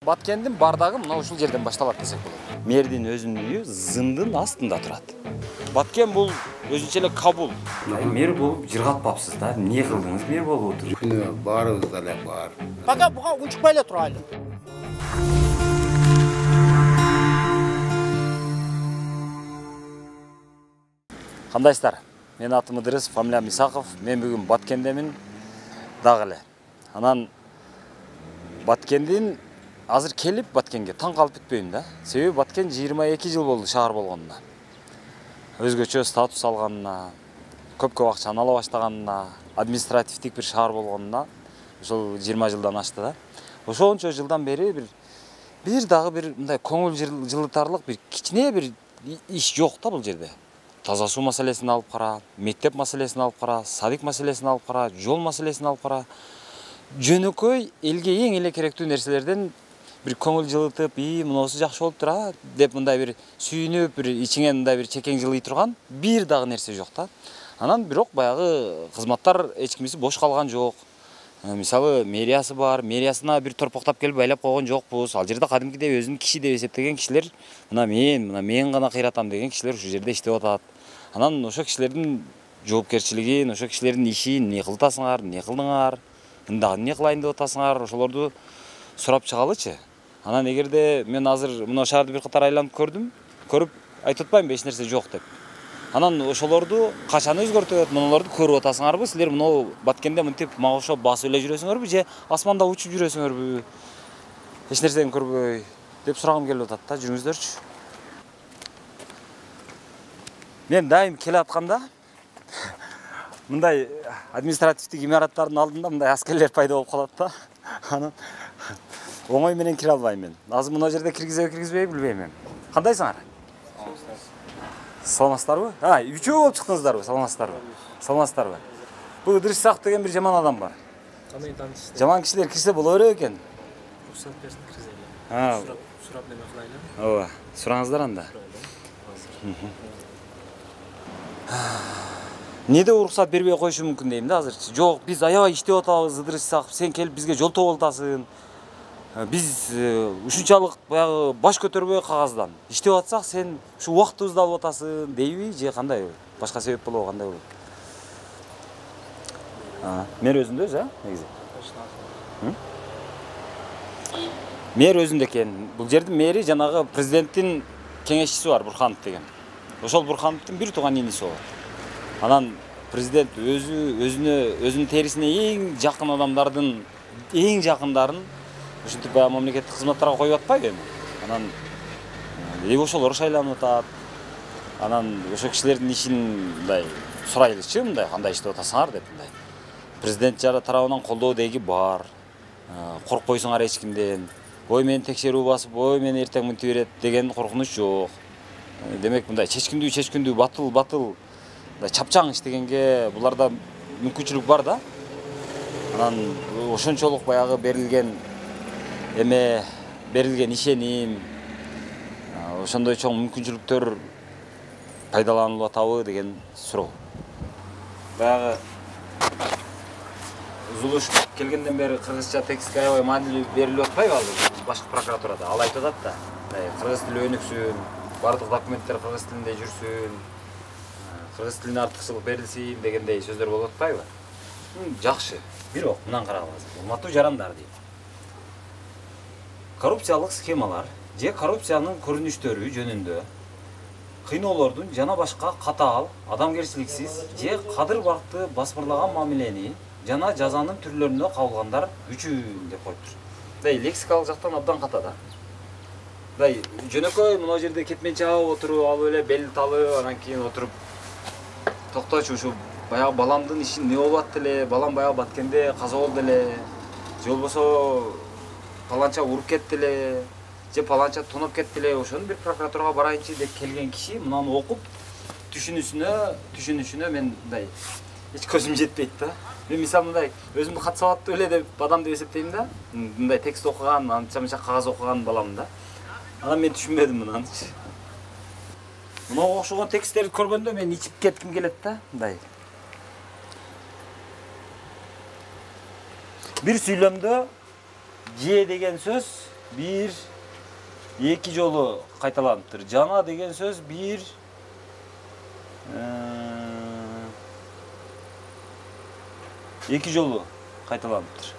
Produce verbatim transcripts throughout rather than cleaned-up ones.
Баткендин бардагы мына ушул жерден башталат десек болот. Мэрдин өзүнүн үйү зындын астында турат. Баткен бул өзүнчө эле Кабул. Мэр болуп жыргатпапсыз да. Эмне кылдыңыз мэр болуп отуруп? Күнү баарыбыз деле бар. Пока буга унчукпай эле турайлы. Кандайсыздар? Менин атым Ыдырыс, фамилиям Исаков. Мен бүгүн Баткендемин дагы эле. Анан Баткендин азыр келип Баткенге таң калып бүтпөйм да. Себеби Баткен жыйырма эки жыл болду шаар болгонуна. Өзгөчө статус алганына, көп-көп акчаны ала баштаганына, административдик бир шаар болгонуна ошол жыйырма жылдан ашты да. Ошончо жылдан бери бир бир дагы бир мындай көңүл жылытарлык бир кичине бир иш жок да бул жерде. Таза суу маселесин алып кара, мектеп маселесин алып кара, садик маселесин алып кара, жол маселесин алып кара. Жөнөкөй элге эң эле керектүү нерселерден бир көңүл жылытып, "И, мунусу жакшы болуптур а" деп мындай бир сүйүнүп, бир ичиңен мындай бир чекең жылый турган бир дагы нерсе жок да. Анан бирок баягы кызматтар эч кимиси бош калган жок. Мисалы, мэриясы бар, мэриясына бир торпоктап келип байлап койгон жокпуз. Ал жерде кадимкидей өзүн киши деп эсептеген кишилер, мына мен, мына мен гана кыйратам деген кишилер ушул жерде иштеп атат. Анан ошо кишилердин жоопкерчилигин, ошо кишилердин ишин эмне кылтасыңар, эмне кылдыңар, дагы эмне кылайын деп атасыңар, ошолорду сурап чыгалычы. Анан эгерде мен азыр мына шаарды бир катар айланып көрдүм, көрүп айтып атпаймынбы эч нерсе жок деп. Анан ошолорду качан өзгөртөт, мунуларды көрүп атасыңарбы? Силер мына Баткенде мынтип мага окшоп басып эле жүрөсүңөрбү же асманда учуп жүрөсүңөрбү? Эч нерсени көрбөй деп сурагым келип атат да, жүрүңүздөрчү. Мен дайым келе атканда мындай административдик имараттардын алдында мындай аскерлер пайда болуп калат да. Анан оңой менен кире албайм мен. Азыр мына жерде киргизеби, киргизбейби билбейм мен. Кандайсыңар? Саламатсыздарбы? А, үчөө болуп чыктыңыздарбы? Саламатсыздарбы? Саламатсыздарбы? Бул Ыдырыс Исаков деген бир жаман адам бар. Кандай таанышсыздар? Жаман кишилер кирсе боло берет экен. Уруксат берсин киргизели. А, сурап, сурап неме кылайлы? ооба, сураңыздар анда. Неде уруксат бербей коюшу мүмкүн дейм да азырчы. Жок, биз аябай иштеп атабыз, Ыдырыс Исаков, сен келип бизге жолтоо болуп атасың. Биз ушунчалык баягы баш көтөрбөй кагаздан иштеп атсак, сен ушу убактыбызды алып атасың дейби же кандай? Башка себеп болобу, кандай болот? Мэр өзүндө өзү, а, негизи. Мэр өзүндө экен. Бул жердин мэри жанагы президенттин кеңешчиси бар, Бурханов деген. Ошол Бурхановдун бир тууган иниси болот. Анан президент өзү өзүнө өзүнүн терисине эң жакын адамдардын эң жакындарын ушинтип баягы мамлекеттик кызматтарга коюп атпайбы эми. Анан эми ошолор шайланып атат. Анан ошо кишилердин ишин мындай сурайлычы, мындай кандай иштеп атасыңар деп мындай. Президент жара тарабынан колдоо деги бар. Коркпойсуңар эч кимден. Ой, мени текшерүү басып, ой, мени эртең мынтип берет деген коркунуч жок. Демек мындай чечкиндүү чечкиндүү батыл батыл чапчаң иштегенге буларда мүмкүнчүлүк бар да. Анан ошончолук баягы берилген эме, берилген ишеним, ошондой чоң мүмкүнчүлүктөр пайдаланылып атабы деген суроо. Баягы Зулуш келгенден бери кыргызча текстке аябай маанилүү берилип атпайбы азыр башкы прокуратурада? Ал айтып атат да. Кыргыз тили өнүксүн, бардык документтер кыргыз тилинде жүрсүн, кыргыз тилине артыкчылык берилсин дегендей сөздөр болуп атпайбы? Жакшы. Бирок мындан карагыла азыр. Урматтуу жарандар дейт. Коррупциялык схемалар же коррупциянын көрүнүштөрү жөнүндө кыйноолордун жана башка катаал, адамгерчиликсиз же кадыр бакты басмырлаган мамилени жана жазанын түрлөрүнө кабылгандар үчүн деп коюптур. Мындай лексикалык жактан абдан ката да. Мындай жөнөкөй мына жерде кетменчи алып отуруп, алып эле бел талып, анан кийин отуруп токточу ушу баягы баламдын иши эмне болуп атты эле, балам баягы Баткенде каза болду эле, же болбосо паланча уруп кетти эле, же паланча тоноп кетти эле, ошону бир прокуратурага барайынчы деп келген киши мынаны окуп түшүнүшүнө, түшүнүшүнө мен мындай эч көзүм жетпейт да. Мен мисалы мындай өзүмдү кат сабаттуу эле деп адам деп эсептейм да. Мындай текст окуган, анча-мынча кагаз окуган балам да. Анан мен түшүнбөдүм мынанычы. Мынага окшогон тексттерди көргөндө мен ичип кетким келет да, мындай. Бир сүйлөмдө же деген сөз бир эки жолу кайталаныптыр. Жана деген сөз бир эки жолу кайталаныптыр.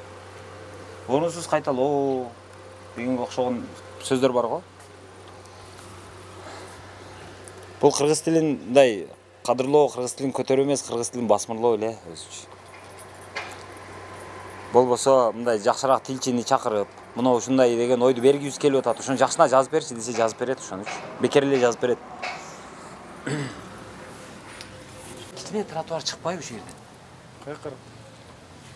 Орунсуз кайталоо дегенге окшогон сөздөр бар го. Бул кыргыз тилин мындай кадырлоо, кыргыз тилин көтөрүү эмес, кыргыз тилин басмырлоо эле өзүчө. Болбосо мындай жакшыраак тилчини чакырып, мына ушундай деген ойду бергибиз келип атат. Ошону жакшына жазып берчи десе жазып берет ошону. Бекер эле жазып берет. Кичине тротуар чыкпайбы ушул жерден? Кайкыр.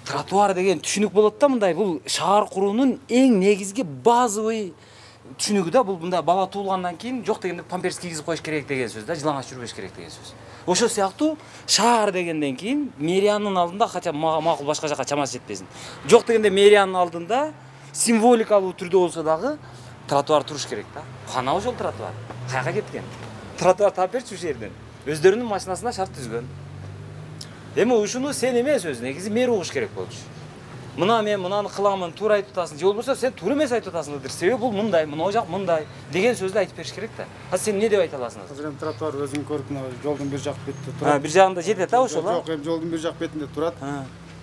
Тротуар деген түшүнүк болот да мындай. Бул шаар куруунун эң негизги базовый түшүнүгү да. Бул мындай бала туулгандан кийин жок дегенде памперс кийгизип коюш керек деген сөз да, жылаңач жүрбөш керек деген сөз. Ошол сыяктуу шаар дегенден кийин мэриянын алдында кача макул башка жака чамасы жетпесин. Жок дегенде мэриянын алдында символикалуу түрдө болсо дагы тротуар туруш керек да. Кана ошол тротуар? Каяка кеткен? Тротуар таап берчи ушул жерден. Өздөрүнүн машинасына шарт түзгөн. Эми ушуну сен эмес өзү негизи мэр угуш керек болчу. Мына мен мынаны кыламын, туура айтып атасың. Же болбосо сен туура эмес айтып атасыңдыр. Себеби бул мындай, мына жак мындай деген сөздү айтып бериш керек да. А сен эмне деп айта аласың? Азыр эми тротуар өзүң көрүп мына жолдун бир жак бетинде турат. Ha, бир жагында жетет да ошол? Жок, эми жолдун бир жак бетинде турат.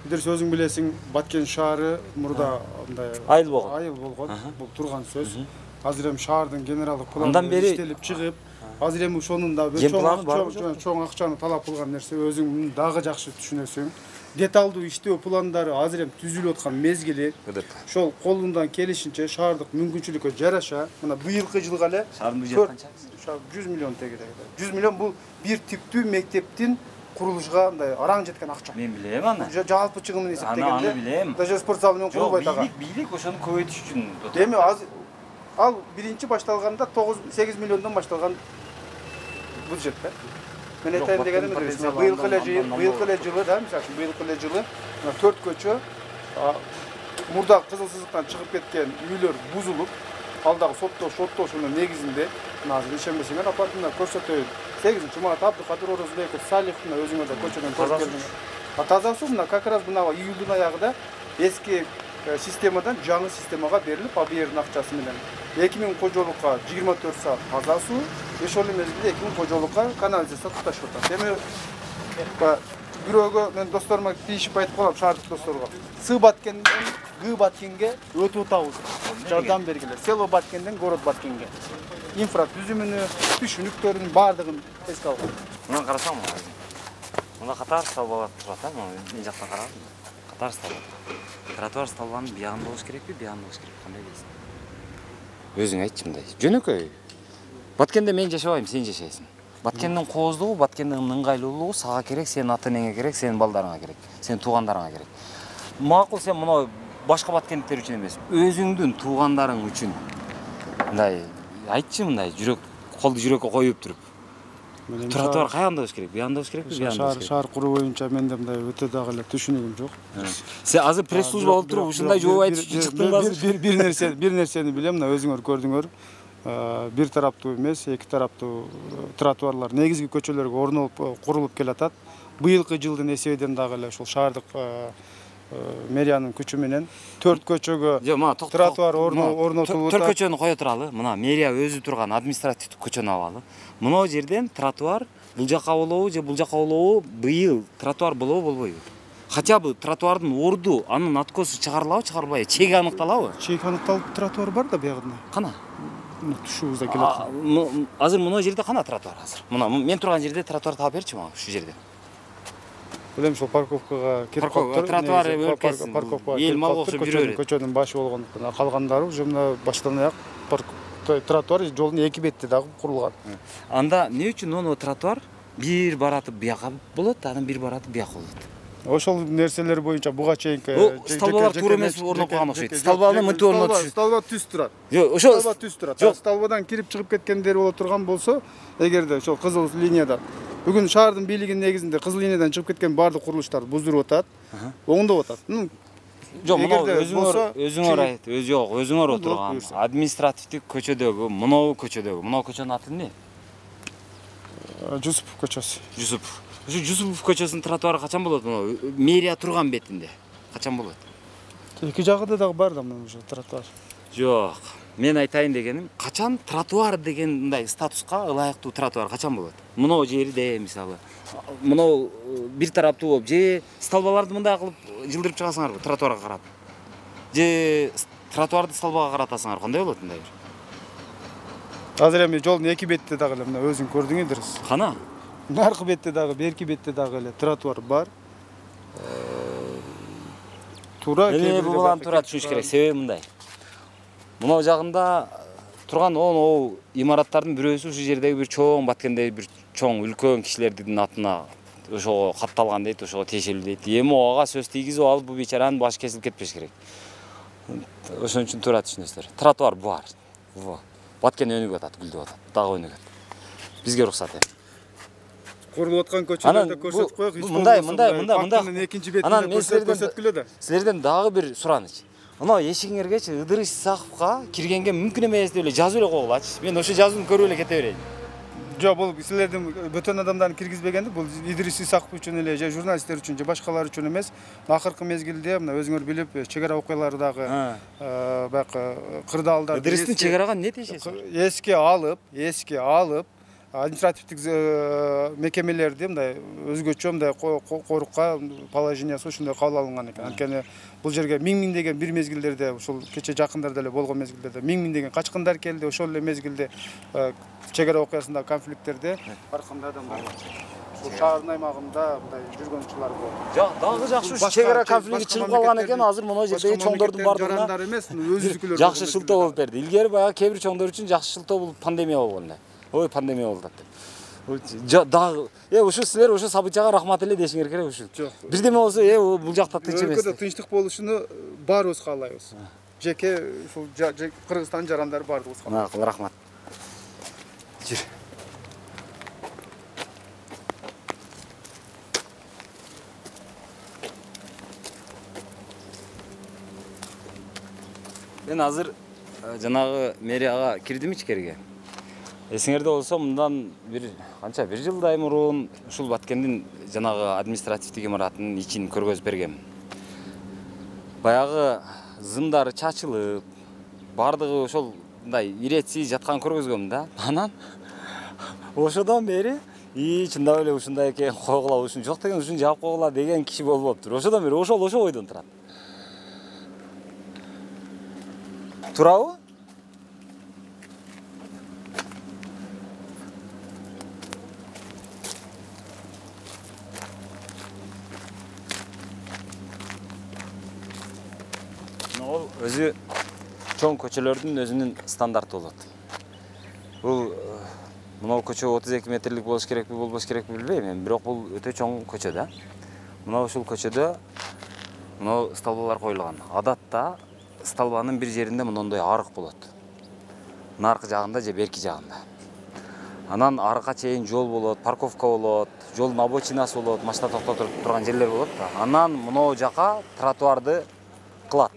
Бир өзүң билесиң, Баткен шаары мурда мындай айыл болгон. Айыл болгон. Бул турган сөз. Азыр эми шаардын генералдык планы иштелип чыгып, азыр эми ошонун да бир чоң чоң акчаны талап кылган нерсе өзүң дагы жакшы түшүнөсүң. Деталдуу иштөө пландары азыр эми түзүлүп аткан мезгили. Ошол колундан келишинче шаардык мүмкүнчүлүккө жараша, мына быйылкы жылга эле шаардын бюджети канча? жүз миллион тегеде. жүз миллион бул бир типтүү мектептин курулушуга мындай араң жеткен акча. Мен билем аны. Жалпы чыгымын эсептегенде. Аны билем. Даже спорт залы менен курулбайт ага. Бийлик, бийлик ошону көбөйтүш үчүн. Эми азыр ал биринчи башталганда тогуз сегиз миллиондон башталган бюджет да. Мен айтайын дегеним эмес. Быйылкы эле быйылкы эле жылы да, мисалы үчүн быйылкы эле жылы төрт көчө мурда кызыл сызыктан чыгып кеткен үйлөр бузулуп, ал дагы соттоо шоттоошунун негизинде мына азыр ишенбесеңер апартымда көрсөтөйүн. сегизинчи март Абдыкадыр Орозбеков, Салих мына өзүңөр да көчөдөн көрүп келдиңер. А таза суу мына как раз мына июлдун аягында эски системадан жаңы системага берилип, а бу жердин акчасы менен эки миң кожолукка жыйырма төрт саат таза суу, ошол мезгилде эки миң кожолукка канализация туташып атат. Эми бирөөгө мен досторума тийишип айтып коем, шаардык досторго. Сы Баткенден Г Баткенге өтүп атабыз. Жардам бергиле. Село Баткенден город Баткенге. Инфра түзүмүнү, түшүнүктөрүнүн баардыгын эске алган. Мына карасаң, мына катар столбалар турат, а, мен жактан карадым. Катар столбалар. Тротуар столбанын биягында болуш керекпи, биягында болуш керек, кандай дейсиң? Өзүң айтчы мындай. Жөнөкөй. Баткенде мен жашабайм, сен жашайсың. Баткендин кооздугу, Баткендин ыңгайлуулугу сага керек, сенин ата-энеңе керек, сенин балдарыңа керек, сенин туугандарыңа керек. Макул сен мына башка баткендиктер үчүн эмес, өзүңдүн туугандарың үчүн мындай айтчы мындай жүрөк, колду жүрөккө коюп туруп. Тротуар каягында болуш керек? Биягында болуш керекпи? Биягында болуш керек. Шаар куруу боюнча менде мындай өтө дагы эле түшүнүгүм жок. Сен азыр пресс-служба болуп туруп ушундай жооп айтып чыктыңбы? Бир бир нерсе, бир нерсени билем, мына өзүңөр көрдүңөр. Бир тараптуу эмес, эки тараптуу тротуарлар негизги көчөлөргө орнолуп курулуп келатат. Быйылкы жылдын эсебинен дагы эле ушул шаардык мэриянын күчү менен төрт көчөгө тротуар орнотулуп атат. Төрт көчөнү кое туралы. Мына мэрия өзү турган административдик көчөнү алалы. Мына жерден тротуар бул жака болобу же бул жака болобу быйыл тротуар болобу болбойбу? Хотя бы тротуардын орду, анын откосу чыгарылабы, чыгарылбайбы? Чеги аныкталабы? Чеги аныкталып тротуар бар да биягында. Кана? Түшүүбүздө келет. Азыр мына жерде кана тротуар азыр? Мына мен турган жерде тротуар таап берчи мага ушул жерде. Билем ошол парковкага кирип калыптыр. Тротуар өлкөсүн. Парковкага эл мал окшоп жүрө берет. Көчөнүн башы болгондуктан калгандары уже мына баштан аяк тротуар жолдун эки бетте дагы курулган. Анда эмне үчүн ону тротуар бир баратып бияка болот, анан бир баратып бияка болот? Ошол нерселер боюнча буга чейинки столбалар туура эмес орнотуп калган окшойт. Столбаны мынтип орнотушат. Столба түз турат. Жок, ошол столба түз турат. Жок, столбадан кирип чыгып кеткендер боло турган болсо, эгерде ошол кызыл линияда бүгүн шаардын бийлигинин негизинде кызыл линиядан чыгып кеткен баардык курулуштар буздуруп атат, оңдоп атат. Жок, мына өзүңөр өзүңөр айт, өз жок, өзүңөр отурган административдик көчөдөгү, мынау көчөдөгү, мынау көчөнүн аты эмне? Жусупов көчөсү. Жусупов. Ушу Жусупов көчөсүнүн тротуары качан болот? Мына мэрия турган бетинде. Качан болот? Эки жагында дагы бар да мына ошо тротуар. Жок. мен айтайын дегеним, качан тротуар деген мындай статуска ылайыктуу тротуар качан болот? Мынау жерде мисалы, мынау бир тараптуу болуп, же столбаларды мындай кылып жылдырып чыгасыңарбы тротуарга карап? Же тротуарды столбага каратасыңар, кандай болот мындай бир? Азыр эми жолдун эки бетте дагы эле мына өзүң көрдүңүздөр. Кана? Наркы бетте дагы, берки бетте дагы эле тротуар бар. Туура Эми бул баланы туура түшүнүш керек. Себеби мындай. Мынау жагында турган он имараттардын бирөөсү ушу жердеги бир чоң Баткендеги бир чоң үлкөн кишилердин атына ошого катталган дейт, ошого тиешелүү дейт. Эми ага сөз тийгизип алып, бул бечаранын башы кесилип кетпеш керек. Ошон үчүн туура түшүнөсүздөр. Тротуар бар. Во. Баткен өнүгүп атат, гүлдөп атат. Дагы өнүгөт. Бизге уруксат эми. Курулуп аткан көчөлөрдө көрсөтүп коёк. Мындай, мындай, мындай, мындай. Экинчи бетинде көрсөткүлө да. Силерден дагы бир сураныч. Мына эшигиңергечи Ыдырыс Исаковго киргенге мүмкүн эмес деп эле жазып эле койгулачы. Мен ошо жазууну көрүп эле кете берейин. Жок, бул силердин бөтөн адамдарды киргизбегенди, бул Ыдырыс Исаков үчүн эле, же журналисттер үчүн, же башкалар үчүн эмес. Акыркы мезгилде мына өзүңөр билип, чек ара окуялары дагы баягы кырдаалдар. Ыдырыстын чек арага эмне тиешеси? Эске алып, эске алып, административдик мекемелерди мындай өзгөчө мындай корукка положениясы ушундай кабыл алынган экен. Анткени бул жерге миң-миңдеген бир мезгилдерде, ушул кече жакындарда эле болгон мезгилдерде миң-миңдеген качкындар келди. Ошол эле мезгилде чек ара окуясындагы конфликттерде ар кандай адамдар бул шаардын аймагында мындай жүргөнчүлөр болду. Жок, дагы жакшы ушу чек ара конфликти чыгып калган экен. Азыр мына жердеги чоңдордун бардыгына жарандар эмес, өзүнүкүлөр жакшы шылтоо болуп берди. Илгери баягы кээ бир чоңдор үчүн жакшы шылтоо бул пандемия болгон эле. Ой, пандемия болду деп. Дагы, э, ушу силер ушу событияга рахмат эле дешиңер керек ушу. Бирдеме болсо, э, бул жакта тынч эмес. Өлкөдө тынчтык болушуну баарыбыз каалайбыз. Жеке ушул Кыргызстан жарандары баардыгыбыз каалайбыз. Макул, рахмат. Жүр. Мен азыр жанагы мэрияга кирдим ичкерге. Эсиңерде болсо, мындан бир канча бир жылдай мурун ушул Баткендин жанагы административдик имаратынын ичин көргөзүп бергем. Баягы зымдары чачылып, бардыгы ошол мындай иретсиз жаткан көргөзгөм да. Анан ошодон бери и чындап эле ушундай экен, койгула, ушун жок деген ушун жаап койгула деген киши болбоптур. Ошодон бери ошол ошо ойдон турат. Турабы? Ол өзү чоң көчөлөрдүн өзүнүн стандарты болот. Бул мына көчө отуз эки метрлик болуш керекпи, болбош керекпи билбейм, эми бирок бул өтө чоң көчө да. Мына ушул көчөдө мына столбалар коюлган. Адатта столбанын бир жеринде мындай арык болот. Наркы жагында же берки жагында. Анан арыкка чейин жол болот, парковка болот, жолдун обочинасы болот, машина токтотуп турган жерлер болот да. Анан мына жака тротуарды кылат.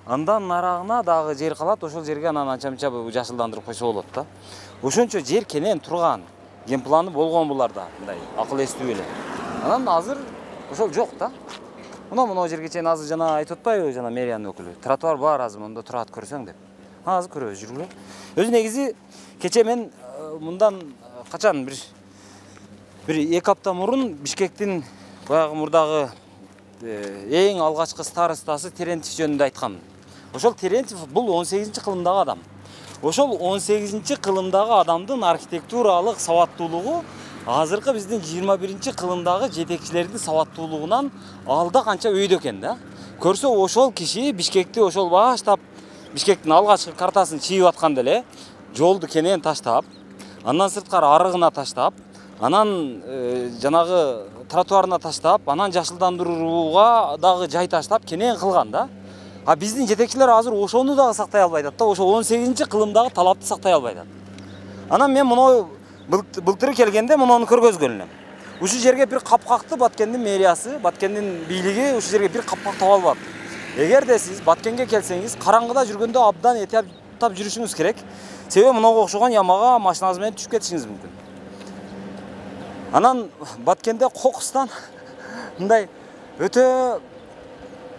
Андан нарагына дагы жер калат, ошол жерге анан анча-мынча жашылдандырып койсо болот да. Ошончо жер кенен турган, ген планы болгон буларда, мындай акыл эстүү эле. Анан азыр ошол жок да. Мына мына жерге чейин азыр жана айтып атпайбы, жана мэриянын өкүлү. Тротуар бар азыр монда турат көрсөң деп. Азыр көрөбүз, жүргүлө. Өзү негизи кече мен мындан качан бир бир эки апта мурун Бишкектин баягы мурдагы эң алгачкы старостасы Терентьев жөнүндө айткам. Ошол Терентьев бул он сегизинчи кылымдагы адам. Ошол он сегизинчи кылымдагы адамдын архитектуралык сабаттуулугу азыркы биздин жыйырма биринчи кылымдагы жетекчилердин сабаттуулугунан алда канча өйдө экен да. Көрсө ошол киши Бишкекти ошол баштап Бишкектин алгачкы картасын чийип атканда эле жолду кенен таштап, андан сырткары арыгына таштап, анан жанагы тротуарына таштап, анан жашылдандырууга дагы жай таштап кенен кылган да. А биздин жетекчилер азыр ошону дагы сактай албай атат да, ошо он сегизинчи кылымдагы талапты сактай албай атат. Анан мен муну былтыр келгенде муну көргөзгөн элем. Ушу жерге бир капкакты Баткендин мэриясы, Баткендин бийлиги ушу жерге бир капкак таба албады. Эгерде сиз Баткенге келсеңиз, караңгыда жүргөндө абдан этиптап жүрүшүңүз керек. Себеби мынага окшогон ямага машинаңыз менен түшүп кетишиңиз мүмкүн. Анан Баткенде кокустан мындай өтө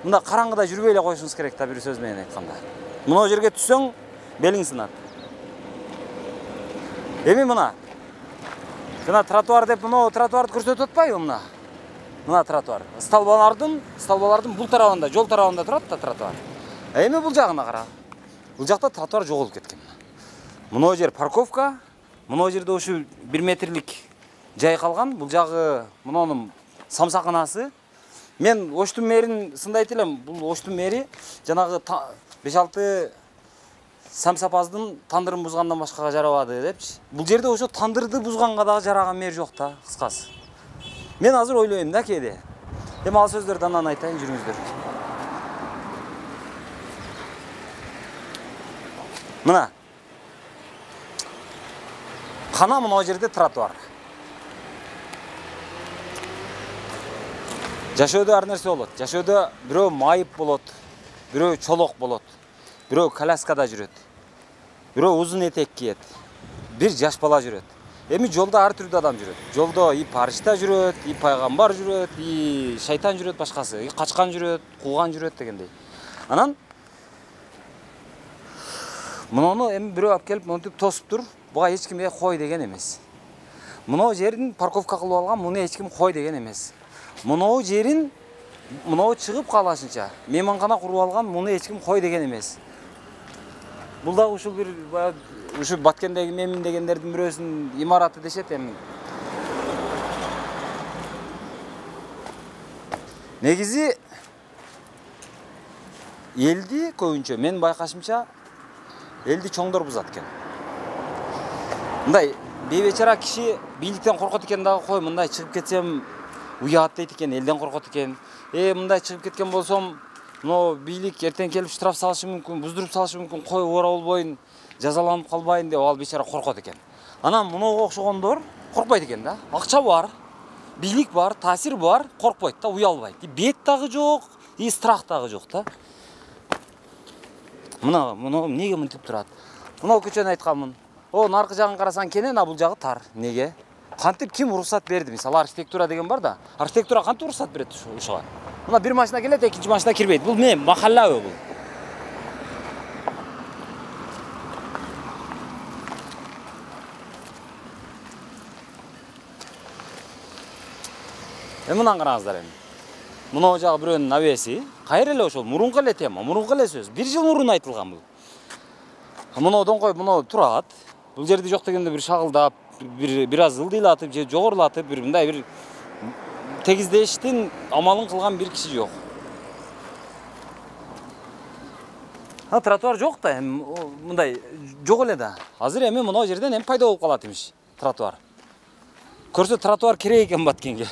мында караңгыда жүрбөй эле коюшуңуз керек да, бир сөз менен айтканда. Мына жерге түссөң, белиң сынат. Эми мына. Жана тротуар деп мына тротуарды көрсөтүп атпайбы мына? Мына тротуар. Столбалардын, столбалардын бул тарабында, жол тарабында турат да тротуар. Эми бул жагына кара. Бул жакта тротуар жоголуп кеткен. Мына жер парковка, мына жерде ушу бир метрлик жай калган. Бул жагы мунунун самсаканасы. Мен Оштун мэрин сындайт элем. Бул Оштун мэри жанагы беш алты самсапаздын тандырын бузгандан башкага жарабады депчи. Бул жерде ошо тандырды бузганга дагы жараган мэр жок да, кыскасы. Мен азыр ойлойм да кээде. Эми ал сөздөрдү анан айтайын, жүрүңүздөр. Мына. Кана мына жерде тротуар. Жашоодо ар нерсе болот. Жашоодо бирөө майып болот, бирөө чолок болот, бирөө коляскада жүрөт, бирөө узун этек кийет, бир жаш бала жүрөт. Эми жолдо ар түрдүү адам жүрөт. Жолдо и паришта жүрөт, и пайгамбар жүрөт, и шайтан жүрөт, башкасы, и качкан жүрөт, кууган жүрөт дегендей. Анан муну эми бирөө алып келип монтип тосуп тур, буга эч ким кой деген эмес. Мына жерин парковка кылып алган, муну эч ким кой деген эмес. Мына жерин мына чыгып калашынча мейманкана куруп алган, муну эч ким кой деген эмес. Бул дагы ушул бир ушу Баткендеги мемин дегендердин бирөөсүнүн имараты дешет эми. Негизи элди көбүнчө мен байкашымча элди чоңдор бузат экен. Мындай бейбечара киши бийликтен коркот экен дагы, кой мындай чыгып кетсем уят дейт экен, элден коркот экен. Э мындай чыгып кеткен болсом, но бийлик эртең келип штраф салышы мүмкүн, буздуруп салышы мүмкүн, кой ора болбойн, жазаланып калбайын деп ал бечара коркот экен. Анан мунуга окшогондор коркпойт экен да. Акча бар, бийлик бар, таасир бар, коркпойт да, уялбайт. И бет дагы жок, и страх дагы жок да. Мына, мына эмнеге мынтип турат? Мына көчөнү айтканмын. О, наркы жагын карасаң кенен, а бул жагы тар. Неге? Кантип ким уруксат берди? Мисалы архитектура деген бар да. Архитектура кантип уруксат берет ушуга? Мына бир машина келет, экинчи машина кирбейт. Бул эмне? Махаллабы бул? Эми мындан караңыздар эми. Мына жагы бирөөнүн навеси, кайра эле ошол мурунку эле тема, мурунку эле сөз. Бир жыл мурун айтылган бул. Мына доңкой мына турат. Бул жерде жок дегенде бир шагылдап, бир бир аз ылдыйлатып же жогорулатып, бир мындай бир тегиздештин амалын кылган бир киши жок. А тротуар жок да, эми мындай жок эле да. Азыр эми мына жерден эми пайда болуп калат имиш тротуар. Көрсө тротуар керек экен Баткенге.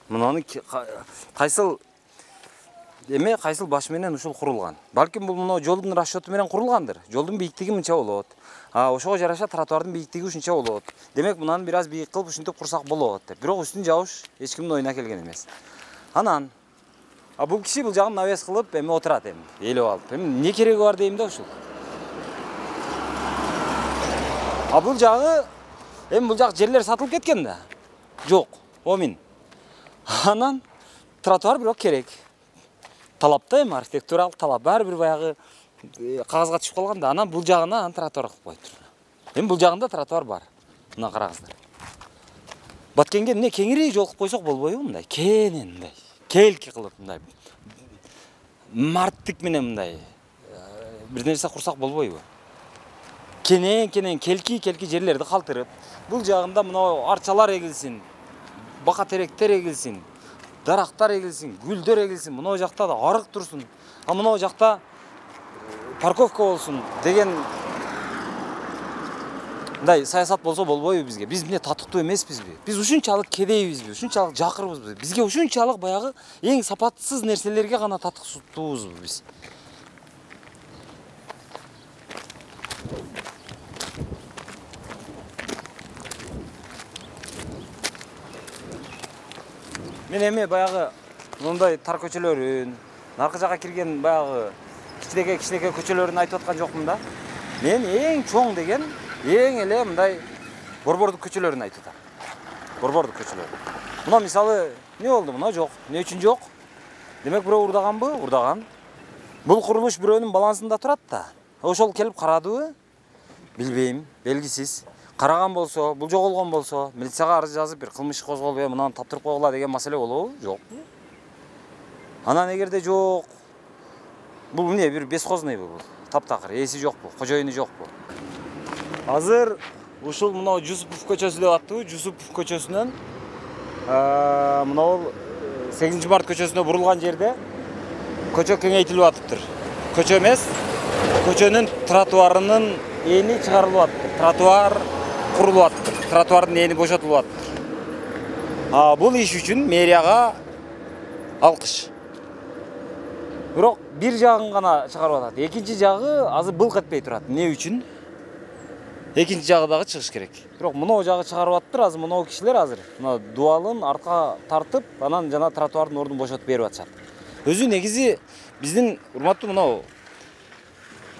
Мунаны кайсыл эме кайсыл баш менен ушул курулган. Балким бул мына жолдун расчёту менен курулгандыр. Жолдун бийиктиги мынча болот. А ошого жараша тротуардын бийиктиги ушунча болот. Демек мунаны бир аз бийик кылып ушинтип курсак болот деп. Бирок үстүн жабыш эч кимдин оюна келген эмес. Анан а бул киши бул жагын навес кылып эми отурат эми, ээлеп алып. Эми эмне кереги бар дейм да ушул. А бул жагы эми бул жак жерлер сатылып кеткен да. Жок, омин. Анан тротуар бирок керек. Талапта эми архитектуралык талап баары бир баягы кагазга түшүп калган да. Анан бул жагына анан тротуар кылып коюптур. Эми бул жагында тротуар бар. Мына караңыздар. Баткенге эмне кеңири жол кылып койсок болбойбу мындай? Кенен мындай. Келки кылып мындай. Марттык менен мындай бир нерсе курсак болбойбу? Кенен кенен келки келки жерлерди калтырып, бул жагында мына арчалар эгилсин, бака теректер эгилсин, дарактар эгилсин, гүлдөр эгилсин, мына жакта да арык турсун. А мына жакта парковка болсун деген мындай саясат болсо болбойбу бизге? Биз эмне татыктуу эмеспизби? Биз ушунчалык кедейбизби? Ушунчалык жакырбызбы? Бизге ушунчалык баягы эң сапатсыз нерселерге гана татыктуубузбу биз? Мен эми баягы мындай тар көчөлөрүн, наркы жакка кирген баягы кичинекей кичинекей көчөлөрүн айтып аткан жокмун да. Мен эң чоң деген, эң эле мындай борбордук көчөлөрүн айтып атам. Борбордук көчөлөр. Мына мисалы эмне болду? Мына жок. Эмне үчүн жок? Демек бирөө урдаганбы? Урдаган. Бул курулуш бирөөнүн балансында турат да. Ошол келип карадыбы? Билбейм, белгисиз. Караган болсо, бул жоголгон болсо, милицияга арыз жазып бир кылмыш козголуп, мынаны таптырып койгула деген маселе болобу? Жок. Анан эгерде жок, бул эмне бир бескознойбу бул? Таптакыр, ээси жокпу, кожоюну жокпу? Азыр ушул мына Жусупов көчөсү деп аттыбы? Жусупов көчөсүнөн мына сегизинчи март көчөсүнө бурулган жерде көчө кеңейтилип атыптыр. Көчө эмес, көчөнүн тротуарынын эни чыгарылып атыптыр. Тротуар курулуп атыптыр. Тротуардын эни бошотулуп атыптыр. А бул иш үчүн мэрияга алкыш. Бирок бир жагын гана чыгарып атат. Экинчи жагы азыр былк этпей турат. Эмне үчүн? Экинчи жагы дагы чыгыш керек. Бирок мына жагы чыгарып атыптыр. Азыр мына кишилер азыр мына дубалын артка тартып, анан жана тротуардын ордун бошотуп берип атышат. Өзү негизи биздин урматтуу мына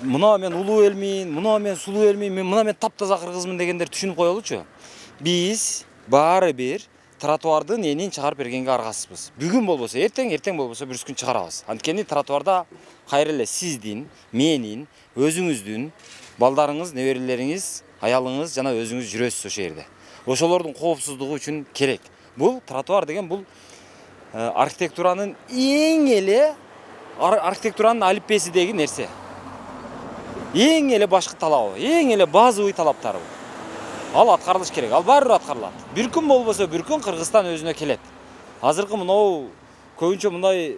мына мен улуу элмин, мына мен сулуу элмин, мына мен таптаза кыргызмын дегендер түшүнүп коелучу. Биз баары бир тротуардын энин чыгарып бергенге аргасызбыз. Бүгүн болбосо эртең, эртең болбосо бир күн чыгарабыз. Анткени тротуарда кайра эле сиздин, менин, өзүңүздүн, балдарыңыз, неберелериңиз, аялыңыз жана өзүңүз жүрөсүз ошол жерде. Ошолордун коопсуздугу үчүн керек. Бул тротуар деген бул архитектуранын эң эле архитектуранын алиппесидеги нерсе. Эң эле башкы талабы, эң эле базовый талаптары бул. Ал аткарылыш керек, ал баары аткарылат. Бир күн болбосо бир күн Кыргызстан өзүнө келет. Азыркы мынау көбүнчө мындай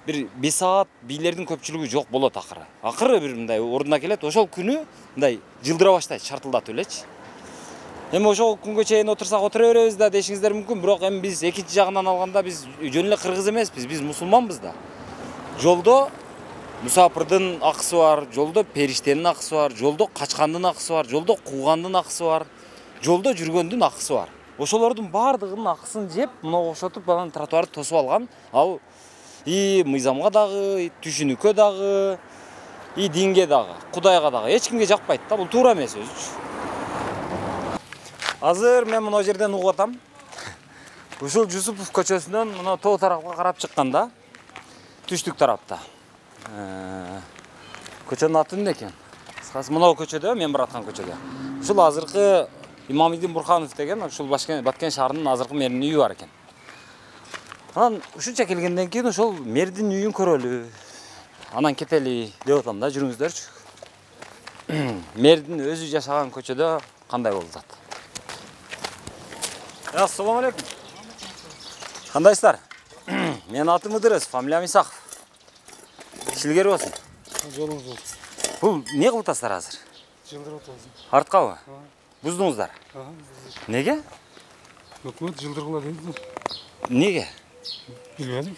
бир беш саат бийлердин көпчүлүгү жок болот акыры. Акыры бир мындай ордуна келет, ошол күнү мындай жылдыра баштайт, шартылдатып элечи. Эми ошол күнгө чейин отурсак отура беребиз да дешиңиздер мүмкүн, бирок эми биз экинчи жагынан алганда биз жөн эле кыргыз эмеспиз, биз мусулманбыз да. Жолдо мусапырдын акысы бар, жолдо периштенин акысы бар, жолдо качкандын акысы бар, жолдо куугандын акысы бар, жолдо жүргөндүн акысы бар. Ошолордун баардыгынын акысын жеп, мына окшотуп анан тротуарды тосуп алган. Ал и мыйзамга дагы, и түшүнүккө дагы, и динге дагы, Кудайга дагы эч кимге жакпайт да, бул туура эмес өзүчү. Азыр мен мына жерден угуп атам. Ушул Жусупов көчөсүнөн мына тоо тарапка карап чыкканда, түштүк тарапта. Көчөнүн аты эмне экен? Кыскасы мына көчөдө, мен бараткан көчөдө. Ушул азыркы Имамидин Бурханов деген ушул Баткен шаарынын азыркы мэринин үйү бар экен. Анан ушунча келгенден кийин ошол мэрдин үйүн көрөлү. Анан кетели деп атам да, жүрүңүздөрчү. Мэрдин өзү жашаган көчөдө кандай болуп атат? Ассаламу алейкум. Кандайсыздар? Менин атым Ыдырыс, фамилиям Исаков. Ишилгер болсун. Жолуңуз болсун. Бул эмне кылып атасыздар азыр? Жылдырып атабыз. Арткабы? Буздуңуздар? Неге? Өкмөт жылдыргыла деди. Неге? Билбедим.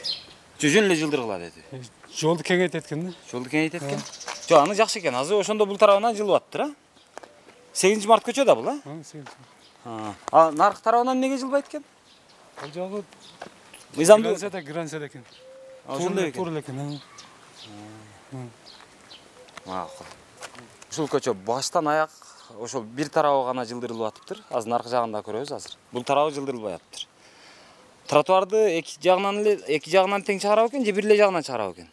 Жөн эле жылдыргыла деди. Жолду кеңейтет экен да. Жолду кеңейтет экен? Жок, аны жакшы экен. Азыр ошондо бул тарабынан жылып атыптыр, а? сегизинчи март көчө да бул, а? А наркы тарабынан эмнеге жылбайт экен? Ал жагы мыйзамдуу Грансада, Грансада экен. Ошондой экен. Туура экен. Макул. Ушул көчө баштан аяк ошол бир тарабы гана жылдырылып атыптыр. Азыр наркы жагында көрөбүз азыр. Бул тарабы жылдырылбай атыптыр. Тротуарды эки жагынан эле эки жагынан тең чыгарабы экен же бир эле жагынан чыгарабы экен?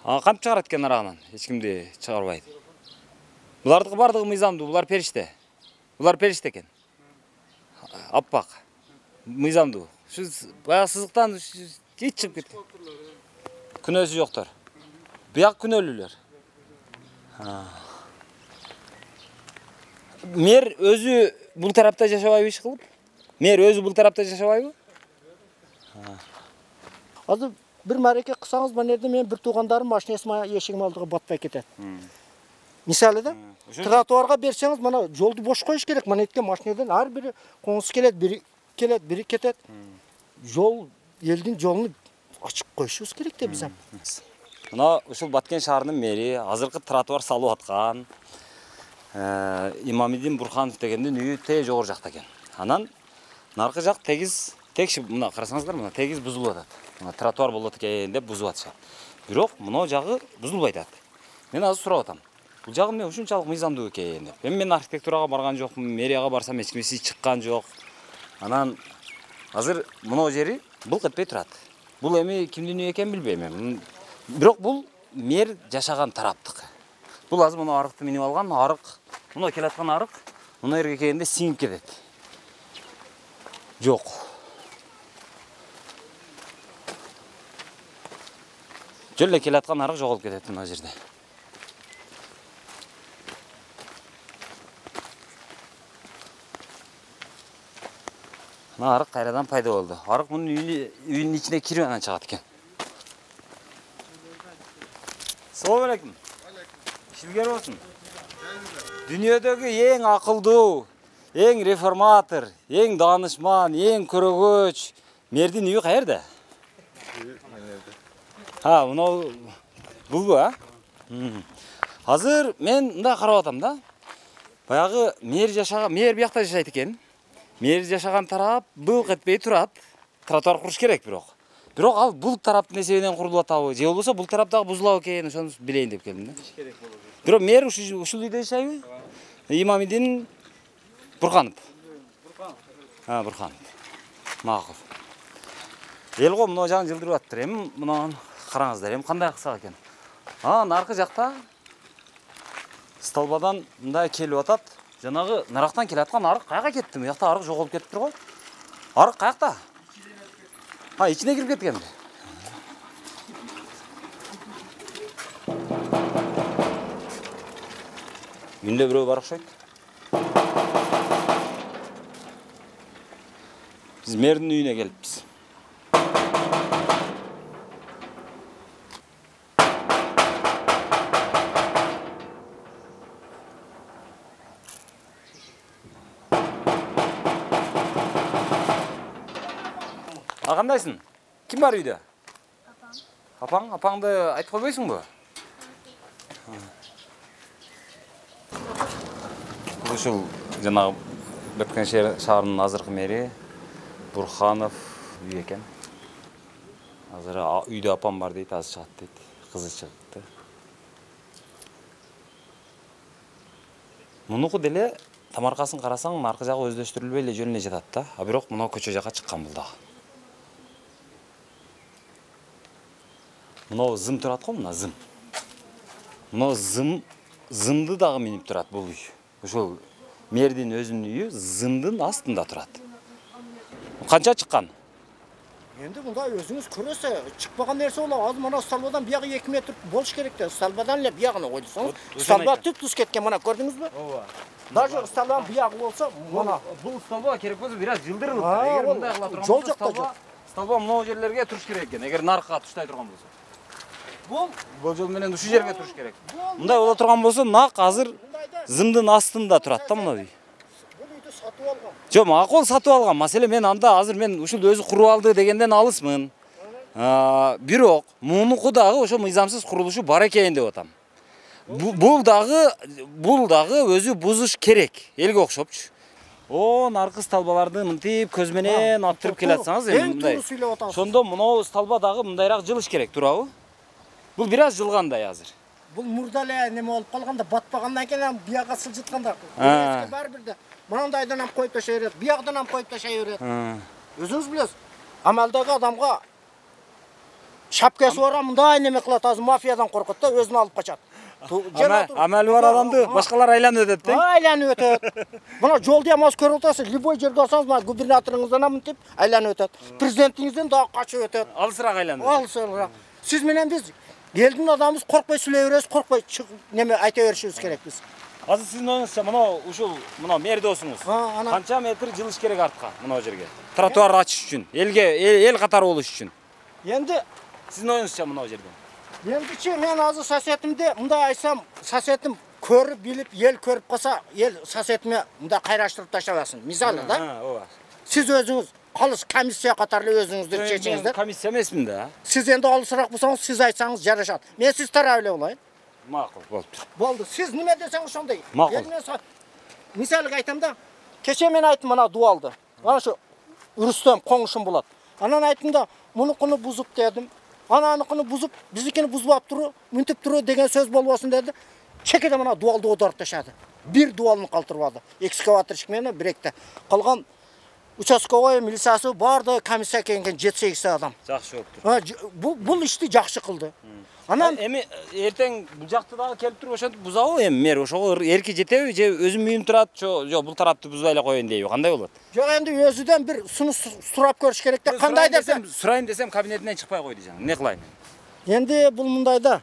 А кантип чыгарат экен арагынан? Эч кимди чыгарбайт. Булардыкы бардыгы мыйзамдуу, булар периште. Булар периште экен. Аппак. Мыйзамдуу. Ушу баягы сызыктан эч чыгып кеткен. Күнөөсү жоктор. Бияк күнөөлүүлөр. Мэр өзү бул тарапта жашабайбы иш кылып? Мэр өзү бул тарапта жашабайбы? Азыр бир мареке кылсаңыз, мына жерде мен бир туугандарым машинасына эшигим алдыга батпай кетет. Мисалы да, тротуарга берсеңиз, мына жолду бош коюш керек. Мына эткен машинадан ар бири коңуз келет, бири келет, бири кетет. Жол, элдин жолун ачык коюшубуз керек да биз. Мына ушул Баткен шаарынын мэри азыркы тротуар салып аткан Имамидин Бурханов дегендин үйү тээ жогору жакта экен. Анан наркы жак тегиз текши, мына карасаңыздар, мына тегиз бузулуп атат. Мына тротуар болот экен деп бузуп атышат. Бирок мына жагы бузулбай атат. Мен азыр сурап атам. Бул жагы эмне ушунчалык мыйзамдуу экен деп. Эми мен архитектурага барган жокмун, мэрияга барсам эч кимси чыккан жок. Анан азыр мына жери былк этпей турат. Бул эми кимдин үйү экенин билбейм эми. Бирок бул мэр жашаган тараптык. Бул азыр мына арыкты минип алган, арык, мына келаткан арык, мына жерге келгенде сиңип кетет. Жок. Жол эле келаткан арык жоголуп кетет мына жерде. Мына арык кайрадан пайда болду. Арык мунун үйүнүн ичине кирип анан чыгат экен. Салам алейкум. İşilger olsun. Dünyadagi eң akılдуу, eң реформатор, eң danışman, eң көрөгөч мэрдин үйү каерде? Ha, мына булбу, а? Азыр мен мындай карап атам да. Баягы мэр жашаган, мэр биякта жашайт экен. Мэр жашаган тарап былк этпей турат. Тротуар куруш керек бирок. Бирок ал бул тараптын эсебинен курулуп атабы, же болбосо бул тарап дагы бузулабы экен, ошону билейин деп келдим да. Бирок мэр ушул үйдө жашайбы? Имамидин Бурканов. Бурканов. Ha, Бурканов. Макул. Эл го мына жагын жылдырып аттыр. Эми мына караңыздар, эми кандай кылсак экен. А, наркы жакта столбадан мындай келип атат. Жанагы нарактан келаткан арык каяка кетти? Буякта арык жоголуп кетиптир го. Арык каякта? Ha, içine girip ketкен. Үйүндө бирөө бар окшойт. Биз мэрдин үйүнө келиппиз. А кандайсың? Ким бар үйдө? Апаң. Апаң, апаңды айтып койбойсуңбу? Бул ушул жанагы Баткен шаарынын азыркы мэри Бурханов үй экен. Азыр үйдө апам бар дейт, азыр чыгат дейт. Кызы чыгыпты. Мунуку деле тамаркасын карасаң, аркы жагы өздөштүрүлбөй эле жөн эле жатат да. А бирок мына көчө жакка чыккан бул дагы. Мына зым турат го, мына зым. Мына зым зымды дагы минип турат бул үй. Ошол мэрдин өзүнүн үйү зымдын астында турат. Канча чыккан? Енді мындай өзүңүз көрөсө, чыкпаган нерсе болот. Азыр мына столбадан биягы эки метр болуш керек да. Столбадан эле биягына койдусоңуз, столба түп-түз кеткен, мына көрдүңүзбү? Ооба. Даже столбадан биягы болсо, мына бул столба керек болсо бир аз жылдырылып, эгер мындай кыла турган жол жакта жок. Столба мына жерлерге туруш керек экен, эгер наркка туштай турган болсо. Бул болжол менен ушул жерге туруш керек. Мындай боло турган болсо, нак азыр зымдын астында турат да мына үй. Бул үйдү сатып алган. Жок, макул сатып алган. Маселе мен анда азыр мен ушул өзү куруп алды дегенден алысмын. Бирок мунуку дагы ошо мыйзамсыз курулушу бар экен деп атам. Бул дагы бул дагы өзү бузуш керек. Элге окшопчу. О, наркы столбаларды мынтип көз менен аттырып келатсаңыз эми мындай. Ошондо мына столба дагы мындайраак жылыш керек, туурабы? Бул бир аз жылгандай азыр. Бул мурда эле неме болуп калганда, батпагандан кийин бияга сылжытканда. Бар бирде. Мынандайдан ham коюп ташай берет, биягдан ham коюп ташай берет. Өзүңүз билесиз. Амалдагы адамга шапкасы бар, мындай неме кылат, азыр мафиядан коркот да, өзүн алып качат. Амалы бар адамды башкалар айланып өтөт да? Айланып өтөт. Мына жолду ham аз көрүп атасыз, любой жерге алсаңыз, мына губернаторуңуздан ham мынтип айланып өтөт. Президентиңизден дагы качып өтөт. Алысыраак айланып. Алысыраак. Сиз менен биз элдин адамыбыз коркпой сүйлөй беребиз, коркпой неме айта беришибиз керек биз. Азыр сиздин оюңузча мына ушул мына мэр досуңуз канча метр жылыш керек артка мына жерге? Тротуар ачыш үчүн, элге эл катары болуш үчүн. Энди сиздин оюңузча мына жерде. Эндичи мен азыр соседимде мындай айтсам, соседим көрүп билип, эл көрүп калса, эл соседиме мындай кайраштырып таштабасын. Мисалы да. Ооба. Сиз өзүңүз калыс комиссия катары өзүңүздүр чечиңиздер. Комиссия эмесмин да. Сиз энди алысыраак болсоңуз, сиз айтсаңыз жарашат. Мен сиз тарап эле болайын. Макул, болду. Болду. Сиз неме десеңиз ошондой. Макул. Мисалга айтам да. Кече мен айттым мына дуалды. Ana şu Rüstem konuşum bulat. Anan aytında munukunu buzup dedim. Ananıkını buzup bizikini buzulap turu, müntip turu degen söz bolbosун dedi. Çekede mana dualды оодарып ташады. Bir dualını калтырбады. Экскаваторщик менен биректе. Калган участковой милициясы барды комиссия келген жети сегиз адам. Жакшы болуптур. Бул бул ишти жакшы кылды. Анан эми эртең бул жакты дагы келип туруп ошентип бузабы эми мэр ошого эрки жетеби же өзүм үйүм турат, жок бул тарапты бузбай эле коеюн дейби, кандай болот? Жок, энди өзүдөн бир сунуш сурап көрүш керек да, кандай десем, сурайын десем кабинетинен чыкпай койду жаңы. Эмне кылайын? Энди бул мындай да.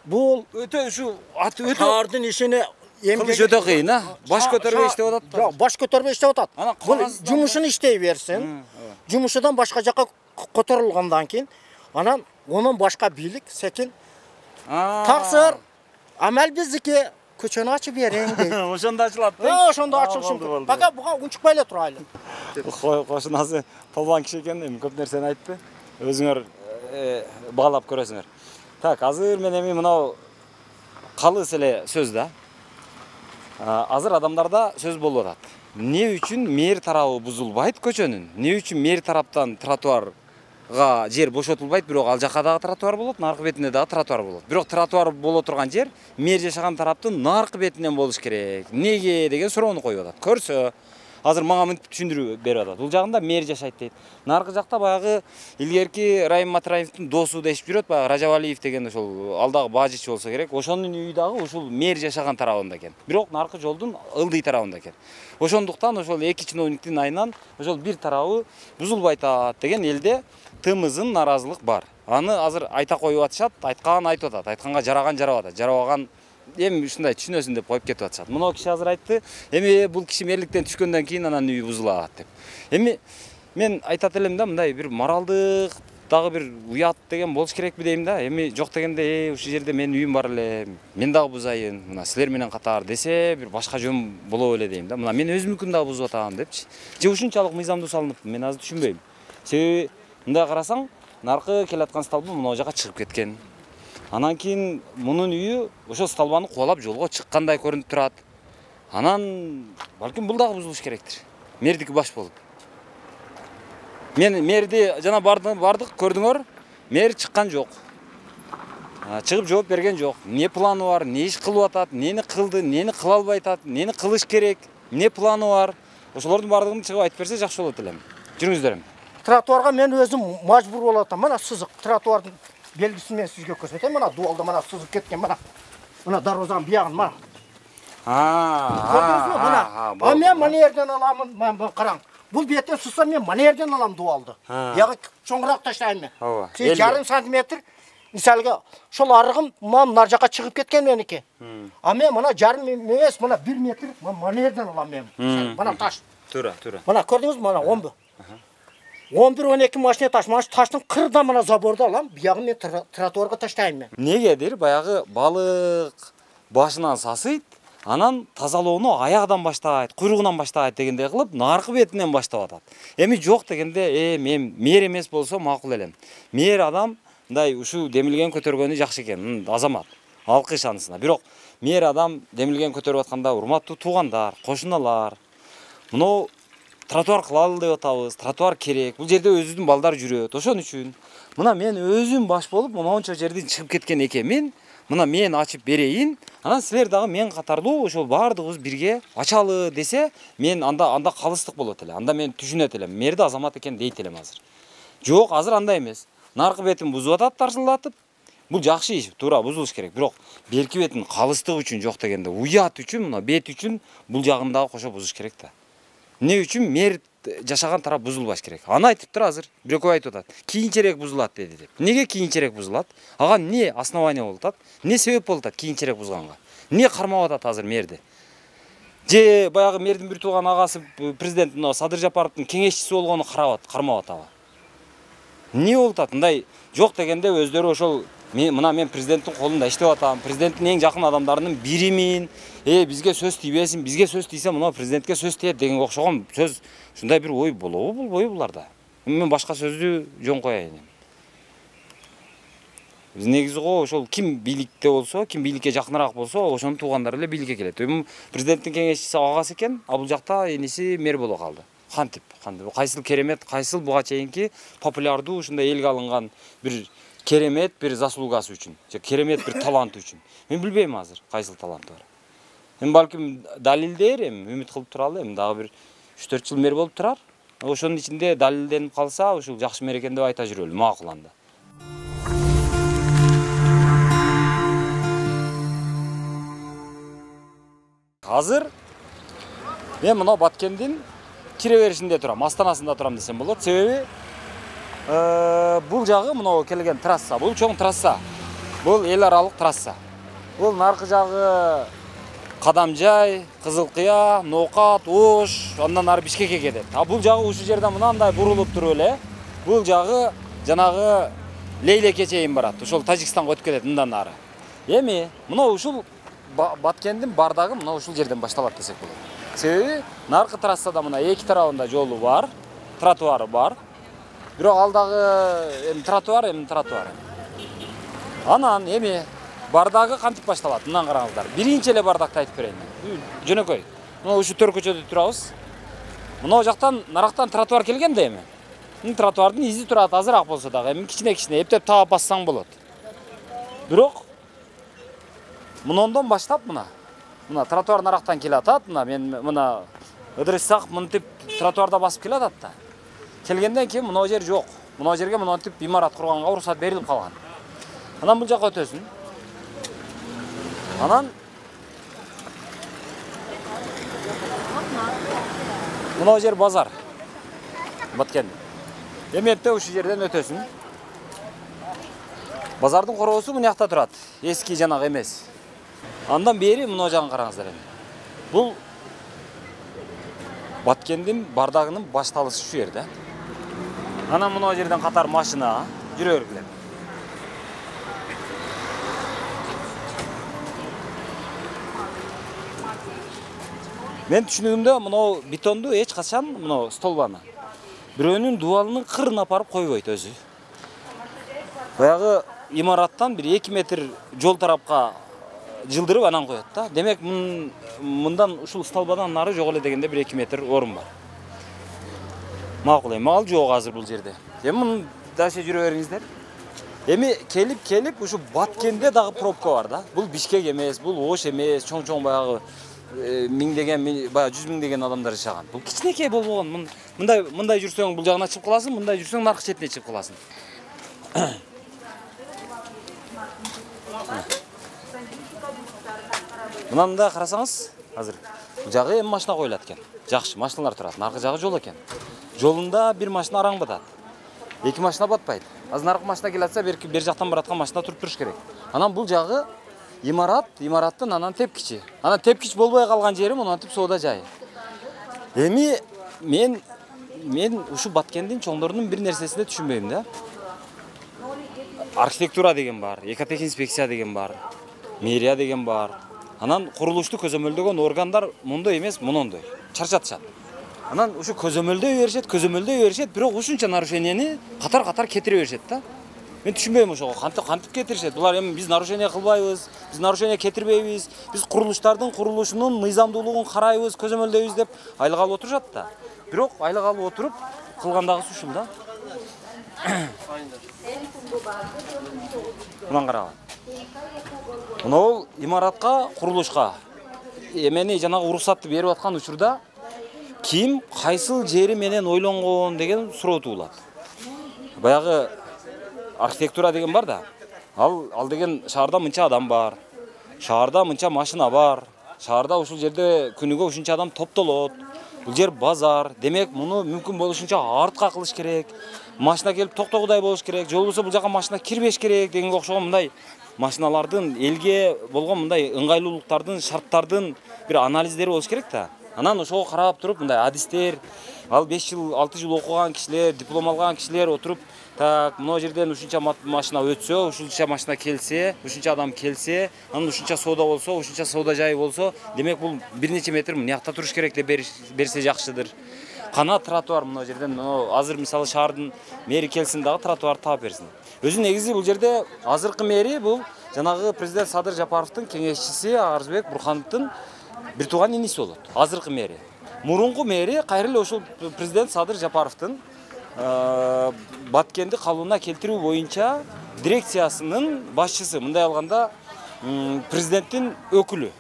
Бул Өтө ушу аты өтө шаардын ишине кылыш өтө кыйын, а? Баш көтөрбөй иштеп атат да. Жок, баш көтөрбөй иштеп атат. Анан Бул кагаздан- жумушун иштей берсин. Жумушудан башка жакка которулгандан кийин, анан онун башка бийлик секин таксыр, амал биздики, көчөнү ачып бериң дейт. Ошондо ачылат да. Э, ошондо ачылышым. Пока буга унчукпай эле турайлы. Кошунасы полбан киши экен, эми көп нерсени айтты. Өзүңөр баалап көрөсүңөр. Так, азыр мен эми мынау калыс эле сөз да. Азыр адамдарда сөз болуп атат. Эмне үчүн мэр тарабы бузулбайт көчөнүн? Эмне үчүн мэр тараптан тротуарга жер бошотулбайт, бирок ал жака дагы тротуар болот, наркы бетинде дагы тротуар болот. Бирок тротуар боло турган жер мэр жашаган тараптын наркы бетинен болуш керек. Неге деген суроону коюп атат. Көрсө, азыр мага мынтип түшүндүрүп берип атат. Бул жагында мэр жашайт дейт. Наркы жакта баягы илгерки Райым Матраевдин досу дешип жүрөт, баягы Ражабалиев деген ошол ал дагы бажыч болсо керек. Ошонун үйү дагы ушул мэр жашаган тарабында экен. Бирок наркы жолдун ылдый тарабында экен. Ошондуктан ошол эки чиновниктин айынан ошол бир тарабы бузулбайт деген элде тымызын наразылык бар. Аны азыр айта коюп атышат, айткан айтып атат, айтканга жараган жарап атат, жарабаган эми ушундай түшүнөсүн деп коюп кетип атышат. Мына киши азыр айтты, эми бул киши мэрликтен түшкөндөн кийин анан үйү бузулат деп. Эми мен айтат элем да, мындай бир моралдык дагы бир уят деген болуш керекпи дейм да. Эми жок дегенде, э, ушул жерде менин үйүм бар эле, мен дагы бузайын, мына силер менен катар десе, бир башка жөн боло эле дейм да. Мына мен өзүмүнкүн дагы бузуп атам депчи. Же ушунчалык мыйзамдуу салыныппы, мен азыр түшүнбөйм. Себеби мындай карасаң, наркы келаткан столбы мына жака чыгып кеткен. Анан кийин мунун үйү ошо столбаны кубалап жолго чыккандай көрүнүп турат. Анан балким бул дагы бузулуш керектир. Мэрдики баш болуп. Мен мэрди жана бардык көрдүңөр, мэр чыккан жок. Чыгып жооп берген жок. Не планы бар, не иш кылып атат, нени кылды, нени кыла албай атат, нени кылыш керек, не планы бар. Ошолордун бардыгын чыгып айтып берсе жакшы болот элем. Жүрүңүздөр эми. Тротуарга мен өзүм мажбур болуп атам. Мына сызык тротуардын белгисин мен сизге көрсөтөм. Мына дуалда мына сызык кеткен, мына. Мына дарбазанын биягын мына. Көрдүңүзбү? Мына. А мен мына жерден аламын, мен караң. Бул беттен сызсам мен мына жерден алам дуалды. Бияга чоңураак таштайм мен. Ооба. жарым сантиметр мисалга ошол арыгым мына жака чыгып кеткен меники. А мен мына жарым эмес, мына бир метр мына жерден алам мен. Мына таш. Туура, туура. Мына көрдүңүзбү? Мына он бир. он бир он эки машина таш, мына таштын кырда мына заборду алам, биягын мен тротуарга таштайм мен. Негедир баягы балык башынан сасыйт, анан тазалоону аягынан баштайт, куйругунан баштайт дегендей кылып, наркы бетинен баштап атат. Эми жок дегенде, э, мен мэр эмес болсо макул элем. Мэр адам мындай ушул демилген көтөргөнү жакшы экен, азамат. Алкыш анысына. Бирок мэр адам демилген көтөрүп атканда урматтуу туугандар, кошуналар. Мына тротуар кылалы деп атабыз, тротуар керек. Бул жерде өзүбүздүн балдар жүрөт. Ошон үчүн мына мен өзүм баш болуп, мончо жерден чыгып кеткен экенмин. Мына мен ачып берейин. Анан силер дагы мен катарлуу ошол баардыгыбыз бирге ачалы десе, мен анда анда калыстык болот эле. Анда мен түшүнөт элем. Мэрди азамат экен дейт элем азыр. Жок, азыр андай эмес. Наркы бетин бузуп атат, тарсылдатып. Бул жакшы иш, туура бузулуш керек. Бирок берки бетин калыстык үчүн жок дегенде, уят үчүн, мына бет үчүн бул жагын дагы кошо бузуш керек да. Эмне үчүн мэр жашаган тарап бузулбаш керек. Аны айтыптыр азыр. Бирөкөө айтып атат. Кийинчерээк бузулат деди деп. Неге кийинчерээк бузулат? Ага эмне основание болуп атат? Эмне себеп болуп атат кийинчерээк бузганга? Эмне кармап атат азыр мэрди? Же баягы мэрдин бир тууган агасы президент Садыр Жапаровдун кеңешчиси болгону карап кармап атабы? Эмне болуп атат? Мындай жок дегенде өздөрү ошол мына мен президенттин колунда иштеп атам, президенттин эң жакын адамдарынын биримин. Э, бизге сөз тийбесин, бизге сөз тийсе мына президентке сөз тиет деген окшогон сөз, ушундай бир ой болобу, болбойбу буларда? Мен башка сөздү жөн коеюн. Биз негизи го ошол ким бийликте болсо, ким бийликке жакыныраак болсо, ошонун туугандары эле бийликке келет. Эми президенттин кеңешчиси агасы экен, а бул жакта эниси мэр боло калды. Кантип, кантип, кайсыл керемет, кайсыл буга чейинки популярдуу ушундай элге алынган бир керемет бир заслугасы үчүн, же керемет бир таланты үчүн. Мен билбейм азыр кайсыл таланты бар. Эми балким далилдер, эми үмүт кылып туралы, эми дагы бир үч төрт жыл мэр болуп турар. ошонун ичинде далилденип калса, ушул жакшы мерекен деп айта жүрөлү, макул анда. Азыр мен мына Баткендин кире беришинде турам, астанасында турам десем болот. Себеби бул жагы мына келген трасса, бул чоң трасса. Бул эл аралык трасса. Бул наркы жагы Кадамжай, Кызылкыя, Ноокат, Ош, андан ары Бишкекке кетет. А бул жагы ушул жерден мынандай бурулуп туруп эле, бул жагы жанагы Лейлекке чейин барат. Ошол Тажикстанга өтүп кетет мындан ары. Эми мына ушул Баткендин бардагы мына ушул жерден башталат десек болот. Себеби наркы трассада мына эки тарабында жолу бар, тротуары бар. Бирок алдагы эми тротуар, эми тротуар. Анан эми бардагы кантип башталат? Мындан караңыздар. Биринчи эле бардакты айтып берейин. Жөнөкөй. Мына ушу төр көчөдө турабыз. Мына жактан нарактан тротуар келген да эми. Мына тротуардын изи турат, азыраак болсо дагы, эми кичине-кичине эптеп таап бассаң болот. Бирок мындан баштап мына. Мына тротуар нарактан келатат, мына мен мына ыдырышсак мынтип тротуарда басып келатат да. Келгенден кийин мына жер жок. Мына жерге мынтип имарат курганга уруксат берилип калган. Анан бул жакка өтөсүн. Анан мына жер базар. Баткен. Эметте ушул жерден өтөсүн. Базардын коробосу мына жакта турат. Эски жанагы эмес. Андан бери мына жагын караңыздар эми. Бул Баткендин бардагынын башталышы ушул жерде. Анан мына жерден катар машина жүрө бергиле. Мен түшүнүгүмдө мына бетонду эч качан мына столбаны бирөөнүн дубалынын кырына апарып койбойт өзү. Баягы имараттан бир эки метр жол тарапка жылдырып анан коет да. Демек мындан ушул столбадан нары жок эле дегенде бир эки метр орун бар. Макул эми ал жок азыр бул жерде. Эми муну дальше жүрө бериңиздер. Эми келип келип ушу Баткенде дагы пробка бар да. Бул Бишкек эмес, бул Ош эмес, чоң-чоң баягы миңдеген, баягы жүз миңдеген адамдар жашаган. Бул кичинекей болбогон. Мындай мындай жүрсөң бул жагына чыгып каласың, мындай жүрсөң наркы четине чыгып каласың. Мынанда карасаңыз, азыр жагы эми машина коюлат экен. Жакшы машиналар турат, наркы жагы жол экен. Жолунда бир машина араң батат. Эки машина батпайт. Азыр наркы машина келатса, бер бер жактан бараткан машина туруп туруш керек. Анан бул жагы имарат, имараттын анан тепкичи. Анан тепкич болбой калган жери монтип соода жай. Эми мен мен ушу Баткендин чоңдорунун бир нерсесине түшүнбөйм да. Архитектура деген бар, экотех инспекция деген бар, мэрия деген бар. Анан курулушту көзөмөлдөгөн органдар мындай эмес, мындай чарчатышат. Анан ушу көзөмөлдөй беришет, көзөмөлдөй беришет, бирок ушунча нарушениени катар-катар кетире беришет да. Мен түшүнбөйм ошого, кантип кантип кетиришет. Булар эми биз нарушение кылбайбыз, биз нарушение кетирбейбиз, биз курулуштардын курулушунун мыйзамдуулугун карайбыз, көзөмөлдөйбүз деп айлык алып отурушат да. Бирок айлык алып отуруп кылгандагысы ушул да. Мындан караган. Мынау имаратка, курулушка эмени жанагы уруксатты берип аткан учурда ким кайсыл жери менен ойлонгон деген суроо туулат. Баягы архитектура деген бар да. Ал ал деген шаарда мынча адам бар. Шаарда мынча машина бар. Шаарда ушул жерде күнүгө ушунча адам топтолот. Бул жер базар. Демек, муну мүмкүн болушунча артка кылыш керек. Машина келип токтогудай болуш керек. Жол болсо бул жака машина кирбеш керек дегенге окшогон мындай машиналардын элге болгон мындай ыңгайлуулуктардын, шарттардын бир анализдери болуш керек да. Анан ошого карап туруп мындай адистер, ал беш жыл, алты жыл окуган кишилер, диплом алган кишилер отуруп, так, мына жерден ушунча машина өтсө, ушунча машина келсе, ушунча адам келсе, анан ушунча соода болсо, ушунча соода жайы болсо, демек бул бир нече метр мынакта туруш керек деп берсе жакшыдыр. Кана тротуар мына жерден, азыр мисалы шаардын мэри келсин дагы тротуар таап берсин. Өзү негизи бул жерде азыркы мэри бул жанагы президент Садыр Жапаровдун кеңешчиси Арзбек Бурхановдун бир тууган иниси болот. Азыркы мэри. Мурунку мэри кайра эле ошол президент Садыр Жапаровдун Баткенди калыбына келтирүү боюнча дирекциясынын башчысы, мындай алганда президенттин өкүлү.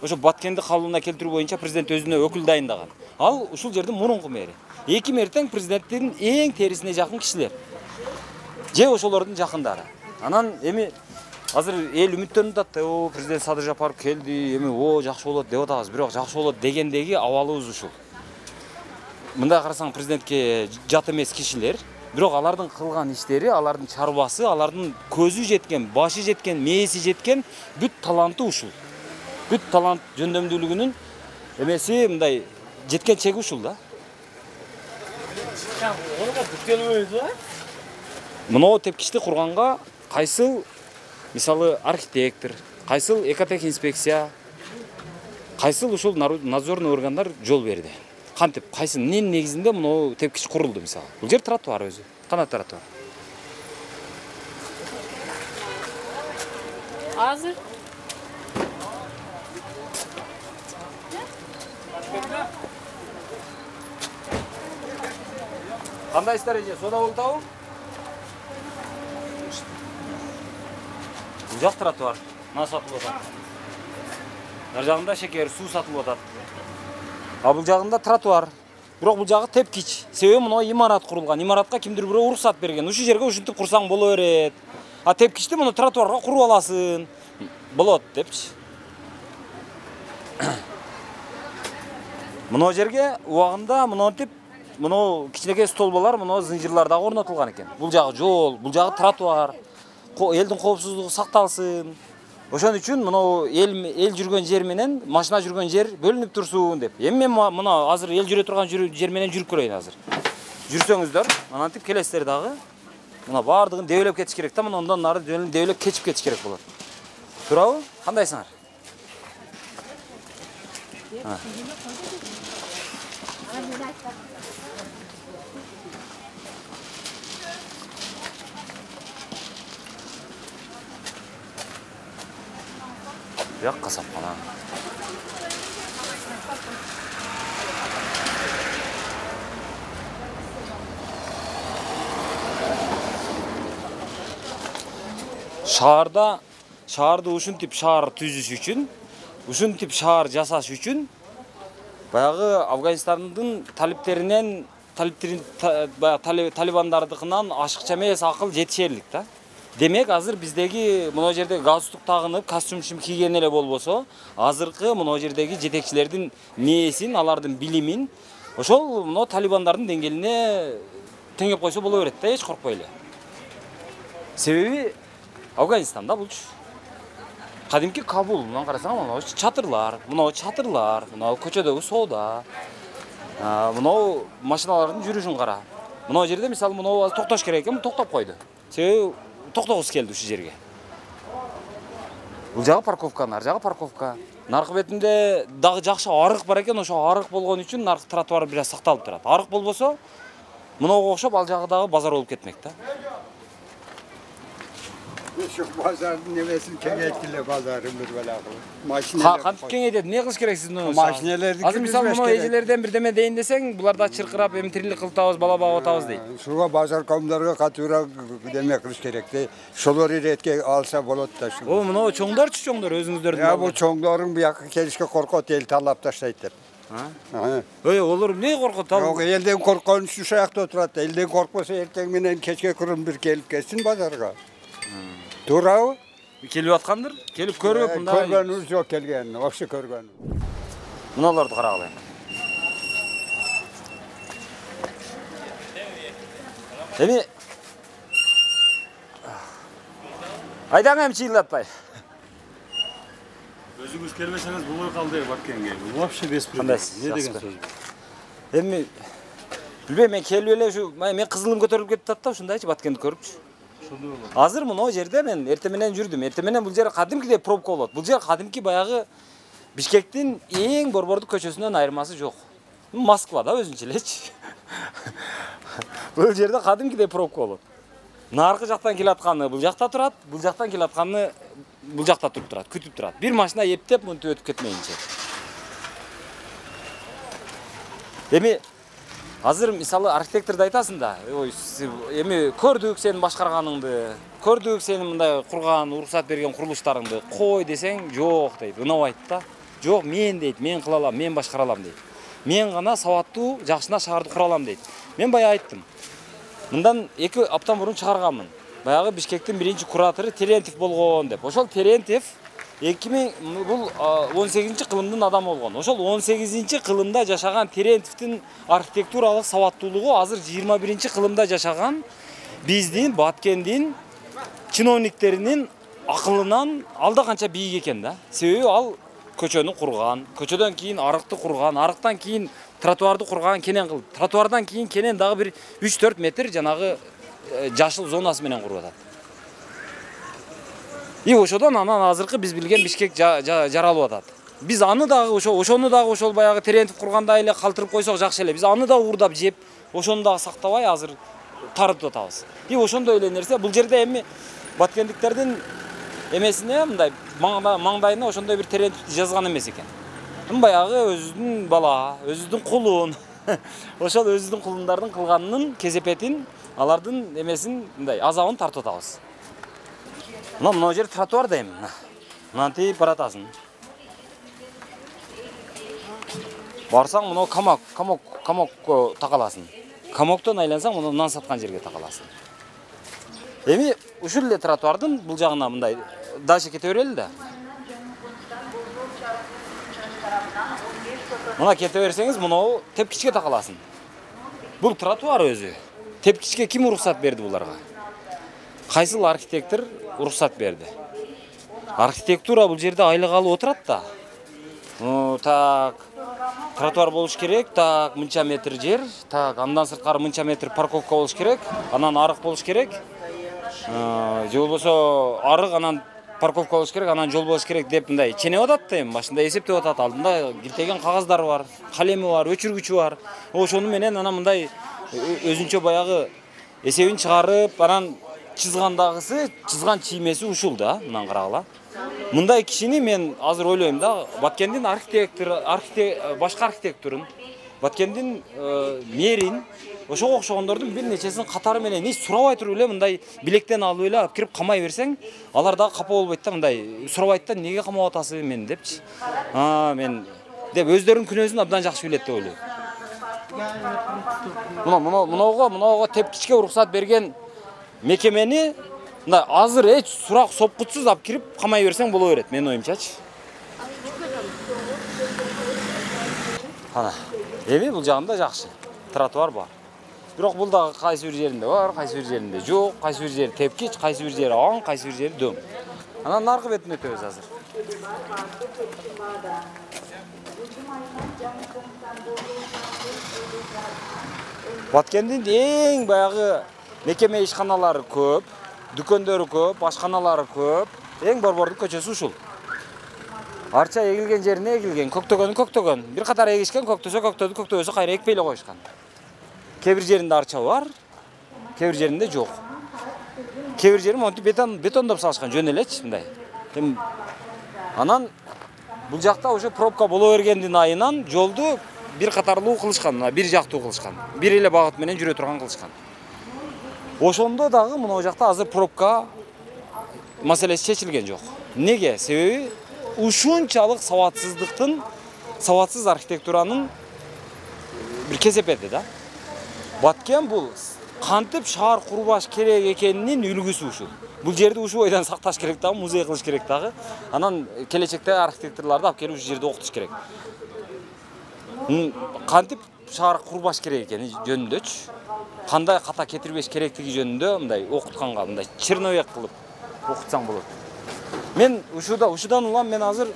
Ошо Баткенди калыбына келтирүү боюнча президент өзүнө өкүл дайындаган. Ал ушул жердин мурунку мэри. эки мертең президенттин эң терисине жакын кишилер. Же ошолордун жакындары. Анан эми азыр эл үмүттөнүп атат, о президент Садыр Жапаров келди, эми о жакшы болот деп атабыз, бирок жакшы болот дегендеги абалыбыз ушул. Мындай карасаң президентке жат эмес кишилер, бирок алардын кылган иштери, алардын чарбасы, алардын көзү жеткен, башы жеткен, мээси жеткен бүт таланты ушул. Бүт талант жөндөмдүүлүгүнүн эмеси мындай жеткен чеги ушул да. Мынау тепкичти курганга кайсыл мисалы архитектор, кайсыл экотех инспекция, кайсыл ушул надзорный органдар жол берди. Кантип, кайсы эмненин негизинде мынау тепкич курулду мисалы. Бул жер тротуар өзү, канат тротуар. Азыр Кандай иштер эже, сода болтабы? Бул жак тротуар, мына сатылып атат. Ар жагында шекер, суу сатылып атат. А бул жагында тротуар. Бирок бул жагы тепкич. Себеби мына имарат курулган. Имаратка кимдир бирөө уруксат берген. Ушул жерге ушинтип курсаң боло берет. А тепкичти мына тротуарга куруп аласың. Болот депчи. Мына жерге убагында мынтип мына кичинекей столбалар мына зынжырлар дагы орнотулган экен. Бул жагы жол, бул жагы тротуар. Элдин коопсуздугу сакталсын. Ошон үчүн мына эл эл жүргөн жер менен машина жүргөн жер бөлүнүп турсун деп. Эми мен мына азыр эл жүрө турган жер менен жүрүп көрөйүн азыр. Жүрсөңүздөр, анантип келесиздер дагы. Мына бардыгын дебелеп кетиш керек да, мына ондан нары дебелеп кечип кетиш керек болот. Туурабы? Кандайсыңар? Бияк касапкана. Шаарда, шаарды ушинтип шаар түзүш үчүн, ушинтип шаар жасаш үчүн баягы Афганистандын талиптеринен, талиптерин талибандардыкынан ашыкча эмес акыл жетишерлик да. Демек, азыр биздеги мына жерде галстук тагынып, костюм кийген эле болбосо, азыркы мына жердеги жетекчилердин мээсин, алардын билимин ошол мына талибандардын деңгээлине теңеп койсо боло берет да, эч коркпой эле. Себеби Афганистанда булчу. Кадимки Кабул, мына карасаң, мына чатырлар, мына чатырлар, мына көчөдөгү соода, мына машиналардын жүрүшүн кара. Мына жерде мисалы мына токтош керек экен, токтоп койду. Себеби токтогус келди ушул жерге. Бул жагы парковка, нар жагы парковка. Наркы бетинде дагы жакшы арык бар экен, ошо арык болгон үчүн наркы тротуар бир аз сакталып турат. Арык болбосо, мынага окшоп ал жагы дагы базар болуп кетмек да. Şu pazarın nemesini kengeyttiler pazarın bir bela kılıp. Maşineler... Kantip kengeytет, ne kılış gereksiz? Maşinelerdi Azır misal bunu ecelerden bir deme deyin deseng, bular da çırkırap, emtirlik kıltabız, bala bağı otağız deyip. Şuga pazar komlarga katura demek kılış gerekti. Şolor iretke alsa bolot da şu. O, bunu çoğundar çü çoğundar, özünüzlerden. Ya bu çoğundarın bir yakın kelişke korkut el talap taşlayıdır. Öyle olur, ne korkut? Yok, elden korkan şu şayakta oturat. Elden korkmasa erten menen keçke kurun bir gelip geçsin pazarga. Doğru. Kelip atkandır, kelip körüp bunda. Körgönüz yok kelgen, okşu körgön. Mınalardı qaraqlayın. Emi Aydan hem çiğlatpay. Özünüz kelmeseniz bu boy kaldı Batkenge. Bu вообще беспредел. Ne деген söz? Emi bilbeyim, men kelip ele şu, men kızılım götürüp ketip tatta, şundayçı Batkengeni körüpçü. Азыр мына жерде мен эртең менен жүрдүм. Эртең менен бул жер кадимкидей пробка болот. Бул жер кадимки баягы Бишкектин эң борбордук көчөсүнөн айырмасы жок. Москва да өзүнчө элечи. Бул жерде кадимкидей пробка болот. Наркы жактан келатканы бул жакта турат, бул жактан келатканы бул жакта туруп турат, күтүп турат. Бир машина эптеп мынтип өтүп кетмейинче. Эми азыр мисалы архитекторду айтасың да, ой, эми көрдүк сенин башкарганыңды, көрдүк сенин мындай курган, уруксат берген курулуштарыңды, кой десең, жок дейт, ынабайт да. Жок, мен дейт, мен кыла алам, мен башкара алам дейт. мен гана сабаттуу жакшына шаарды кура алам дейт. Мен баягы айттым. Мындан эки аптан мурун чыгарганмын. Баягы Бишкектин биринчи куратору Терентьев болгон деп. Ошол Терентьев эки миң бул он сегизинчи кылымдын адамы болгон. Ошол он сегизинчи кылымда жашаган Терентьевдин архитектуралык сабаттуулугу азыр жыйырма биринчи кылымда жашаган биздин Баткендин чиновниктеринин акылынан алда канча бийик экен да. Себеби ал көчөнү курган, көчөдөн кийин арыкты курган, арыктан кийин тротуарды курган, кенен кылды. Тротуардан кийин кенен дагы бир үч төрт метр жанагы жашыл зонасы менен куруп атат. И ошодон анан азыркы биз билген Бишкек жаралып атат. Биз аны дагы ошо ошону дагы ошол баягы Терентьев кургандай эле калтырып койсок жакшы эле. Биз аны да уурдап жеп, ошону дагы сактабай азыр тарытып атабыз. И ошондой эле нерсе бул жерде эми баткендиктердин эмесине мындай маңдайына ошондой бир Терентьевди жазган эмес экен. Баягы өзүнүн бала, өзүнүн кулун, ошол өзүнүн кулундардын кылганынын кесепетин, алардын эмесин мындай азабын тартып атабыз. Мына мына жер тротуар дейм. Мынантип баратасың. Барсаң мына камок, камок, камокко такаласың. Камоктон айлансаң мына нан саткан жерге такаласың. Эми ушул эле тротуардын бул жагына мындай дальше кете берели да. Мына кете берсеңиз, мына тепкичке такаласың. Бул тротуар өзү. Тепкичке ким уруксат берди буларга? Кайсыл архитектор уруксат берди? Архитектура бул жерде айлык алып отурат да. Ну, так, тротуар болуш керек, так, мынча метр жер, так, андан сырткары мынча метр парковка болуш керек, анан арык болуш керек. Же болбосо арык, анан парковка болуш керек, анан жол болуш керек деп мындай ченеп атат да, эми башында эсептеп атат. Алдында киртеген кагаздары бар, калеми бар, өчүргүчү бар. Ошону менен анан мындай өзүнчө баягы эсебин чыгарып, анан чызгандагысы, чызган чиймеси ушул да, мындан карагыла. Мындай кишини мен азыр ойлойм да, Баткендин архитектор, башка архитекторун, Баткендин мэрин, ошого окшогондордун бир нечесин катары менен эч сурабай туруп эле мындай билектен алып эле алып кирип камай берсең, алар дагы капа болбойт да, мындай сурабайт да, неге камап атасыз мен депчи. А, мен деп өздөрүнүн күнөөсүн абдан жакшы билет деп ойлойм. Мына мына мынауга, мынауга тепкичке уруксат берген мекемени мындай азыр эч сурак сопкутсуз алып кирип камай берсең боло берет, менин оюмчачы. Ана, эми бул жагында жакшы. Тротуар бар. Бирок бул дагы кайсы бир жеринде бар, кайсы бир жеринде жок, кайсы бир жери тепкич, кайсы бир жери аң, кайсы бир жери дөң. Анан наркы бетине өтөбүз азыр. Баткендин эң баягы мекеме ишканалары көп, дүкөндөрү көп, ашканалары көп. Эң борбордук көчөсү ушул. Арча эгилген жерине эгилген, көктөгөнү көктөгөн. Бир катар эгишкен, көктөсө көктөдү, көктөбөсө кайра экпей эле коюшкан. Кээ бир жеринде арча бар, кээ бир жеринде жок. Кээ бир жери монтип бетон бетондоп салышкан жөн элечи мындай. Анан бул жакта уже пробка боло бергендин айынан жолду бир катарлуу кылышкан, бир жактуу кылышкан. Бир эле багыт менен жүрө турган кылышкан. Ошондо дагы мына жакта азыр пробка маселеси чечилген жок. Неге? Себеби ушунчалык сабатсыздыктын, сабатсыз архитектуранын бир кесепети да. Баткен бул кантип шаар курбаш керек экенинин үлгүсү ушул. Бул жерди ушул бойдон сакташ керек дагы, музей кылыш керек дагы. Анан келечекте архитекторлорду алып келип ушул жерде окутуш керек. Кантип шаар курбаш керек экени жөнүндөчү, кандай ката кетирбеш керектиги жөнүндө мындай окутканга мындай черновек кылып окутсаң болот. Мен ушуда ушудан улам мен азыр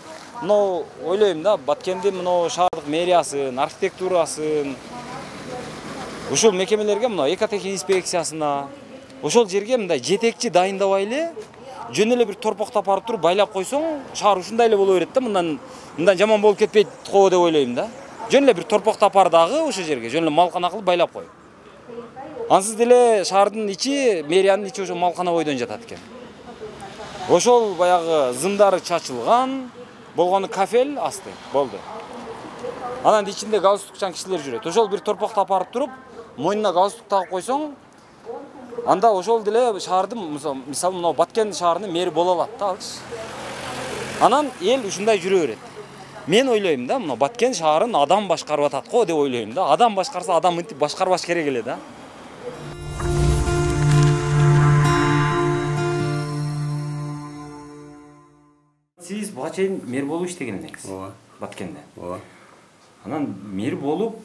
мына ойлойм да, Баткендин мына шаардык мэриясын, архитектурасын, ушул мекемелерге мына экотех инспекциясына, ошол жерге мындай жетекчи дайындабай эле, жөн эле бир торпоктоп барып туруп байлап койсоң, шаар ушундай эле боло берет да, мындан мындан жаман болуп кетпейт го деп ойлойм да. Жөн эле бир торпоктоп бар дагы ошол жерге, жөн эле малкана кылып байлап кой. Ансыз деле шаардын ичи, мэриянын ичи ошо малкана бойдон жатат экен. Ошол баягы зымдары чачылган, болгону кафел асты, болду. Анан ичинде галстукчан кишилер жүрөт. Ошол бир торпоктоп барып туруп, мойнуна галстук тагып койсоң, анда ошол деле шаардын, мисалы, мына Баткен шаарынын мэри боло алат да алчы. Анан эл ушундай жүрө берет. мен ойлойм да, мына Баткен шаарын адам башкарып атат го деп ойлойм да. Адам башкарса адам мынтип башкарбаш керек эле да. Сиз буга чейин мэр болуп иштеген элеңиз. Ооба. Баткенде. Ооба. Анан мэр болуп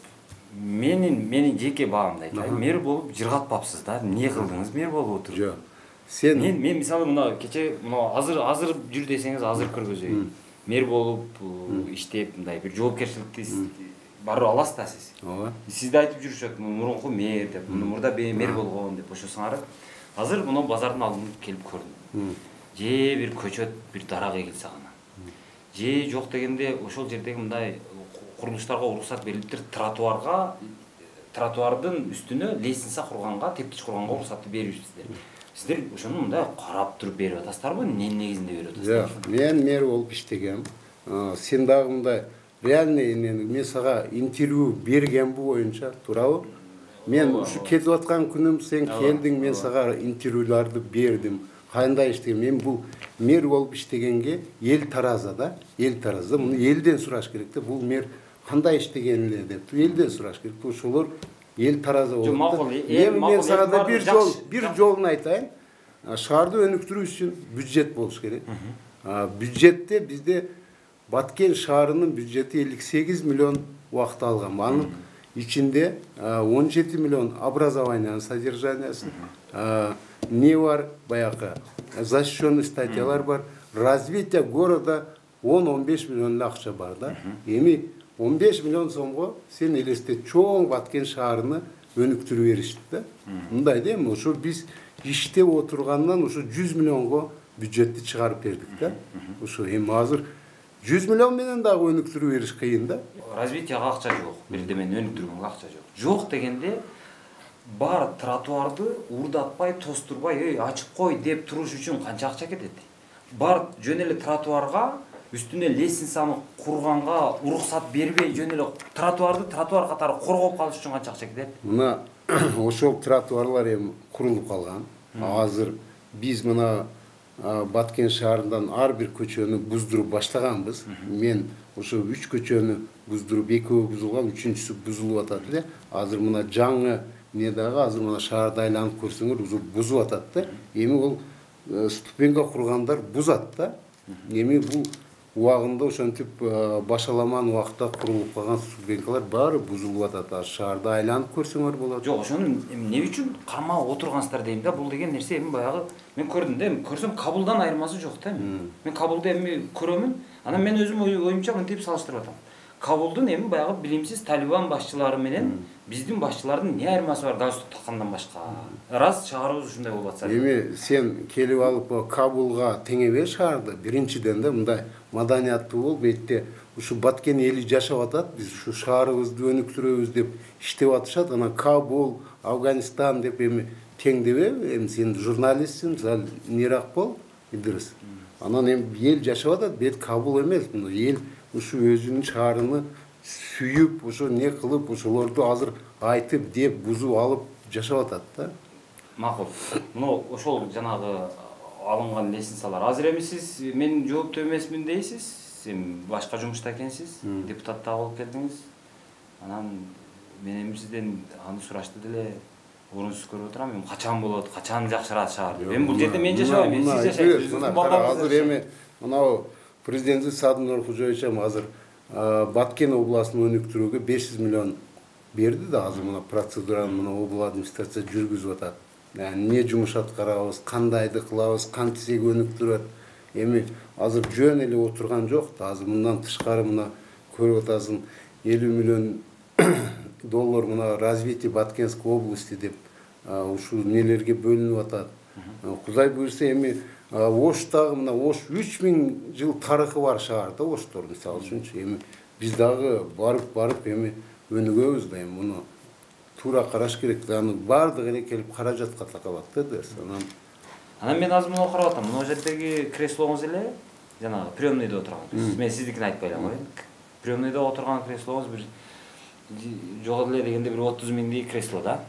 менин менин жеке баамды айтайын. Мэр болуп жыргатпапсыз да. Эмне кылдыңыз мэр болуп отуруп? Жок. Сен мен мен мисалы мына кече мына азыр азыр жүр десеңиз азыр киргизөйүн. Мэр болуп иштеп мындай бир жоопкерчиликти барып аласыз да сиз. Ооба. Сизди айтып жүрүшөт, мурунку мэр деп, мурда мэр болгон деп ошосуңар. Азыр мына базардын алдына келип көрдүм. Же бир көчөт, бир дарак эгилсе гана. Же жок дегенде ошол жердеги мындай курулуштарга уруксат берилиптир, тротуарга тротуардын үстүнө лестница курганга, тептич курганга уруксатты беришсиздер. Сиздер ошону мындай карап туруп берип атасыздарбы? Эмненин негизинде берип атасыздар? Жок, мен мэр болуп иштегем. Сен дагы мындай реальный мен сага интервью бергенби боюнча, туурабы? Мен ушу кетип аткан күнүм сен келдиң, мен сага интервьюларды бердим. Кандай иштегем? Мен бул мэр болуп иштегенге эл тараза да, эл тараза. Муну элден сураш керек да. Бул мэр кандай иштеген эле деп элден сураш керек. Ошолор эл тараза болуп. Макул, Эми мен сага да бир жол, бир жолун айтайын. Шаарды өнүктүрүү үчүн бюджет болуш керек. Бюджетте бизде Баткен шаарынын бюджети элүү сегиз миллион убакыт алган. Анын ичинде он жети миллион образованиянын содержаниясы, не бар баягы защищенный статьялар бар, развитие города он он беш миллион акча бар да. Эми он беш миллион сомго сен элестет, чоң Баткен шаарыны өнүктүрүп беришти да. Мындай да, эми ошо биз иштеп отургандан ошо жүз миллионго бюджетти чыгарып бердик да. Ошо эми азыр жүз миллион менен дагы өнүктүрүп бериш кыйын да. Развитияга акча жок, бирдемени өнүктүргөнгө акча жок. Жок дегенде бар тротуарды урдатпай, тостурбай, эй, ачып кой деп туруш үчүн канча акча кетет? Бар жөн эле тротуарга, үстүнө лестницаны курганга уруксат бербей жөн эле тротуарды тротуар катары коргоп калыш үчүн канча акча кетет? Мына ошол тротуарлар эми курулуп калган. Азыр биз мына Баткен шаарынан ар бир көчөнү буздуруп баштаганбыз. Мен ошо үч көчөнү буздуруп, экөө бузулган, үчүнчүсү бузулуп атат эле. Азыр мына жаңы не дагы азыр мына шаарды айланып көрсөңөр ушул бузуп атат да. Эми ол ступеньга кургандар бузат да. Эми бул убагында ошентип башаламан убакта курулуп калган ступенькалар баары бузулуп атат. Шаарды айланып көрсөңөр болот. Жок, ошону эмне үчүн кармап отургансыздар дейм да. Бул деген нерсе эми баягы мен көрдүм да, көрсөм Кабулдан айырмасы жок да. Мен Кабулду эми көрөмүн. Анан мен өзүм оюмча мынтип салыштырып атам. Кабулдун эми баягы билимсиз Талибан башчылары менен биздин башчылардын не айырмасы бар галстук таккандан башка? Раз шаарыбыз ушундай болуп атса. Эми сен келип алып Кабулга теңебе шаарды. Биринчиден да мындай маданияттуу болуп, бетте ушу Баткен эли жашап атат. Биз ушу шаарыбызды өнүктүрөбүз деп иштеп атышат. Анан Кабул, Афганистан деп эми теңдебе? Эми сен журналистсиң, сал нерак бол, Идрис. Анан эми эл жашап атат, бет Кабул эмес. Мына эл ушу өзүнүн шаарыны сүйүп, ошо не кылып, ошолорду азыр айтып, деп, бузуп алып жашап атат да. Макул. Мына ошол жанагы алынган лестницалар. Азыр эми сиз мен жооптуу эмесмин дейсиз. Сен башка жумушта экенсиз, депутат да болуп келдиңиз. Анан мен эми сизден аны сурашты деле орунсуз көрүп отурам. Эми качан болот, качан жакшырат шаар деп. Эми бул жерде мен жашабайм, мен сиз жашайсыз. Азыр эми мынау президенти Садыр Нуркожоевич азыр Баткен областын өнүктүрүүгө беш жүз миллион берди да. Азыр мына процедураны мына обл администрация жүргүзүп атат. Эмне жумуш аткарабыз, кандайды кылабыз, кантсек өнүктүрөт. Эми азыр жөн эле отурган жок да. Азыр мындан тышкары мына көрүп атасың элүү миллион доллар мына развитие Баткенской области деп ушул нелерге бөлүнүп атат. Кудай буйрса эми Оштагы мына Ош үч миң жыл тарыхы бар шаар да Оштор мисалы үчүнчү. Эми биз дагы барып барып эми өнүгөбүз да. Эми муну туура караш керек да. Анын баардыгы эле келип каражатка такалат да дерс. Анан Анан мен азыр муну карап атам. Мына жердеги креслоңуз эле жанагы приемныйда отурган. Мен сиздикин айтпай элем коеюн. Приемныйда отурган креслоңуз бир жок эле дегенде бир отуз миңдик кресло да.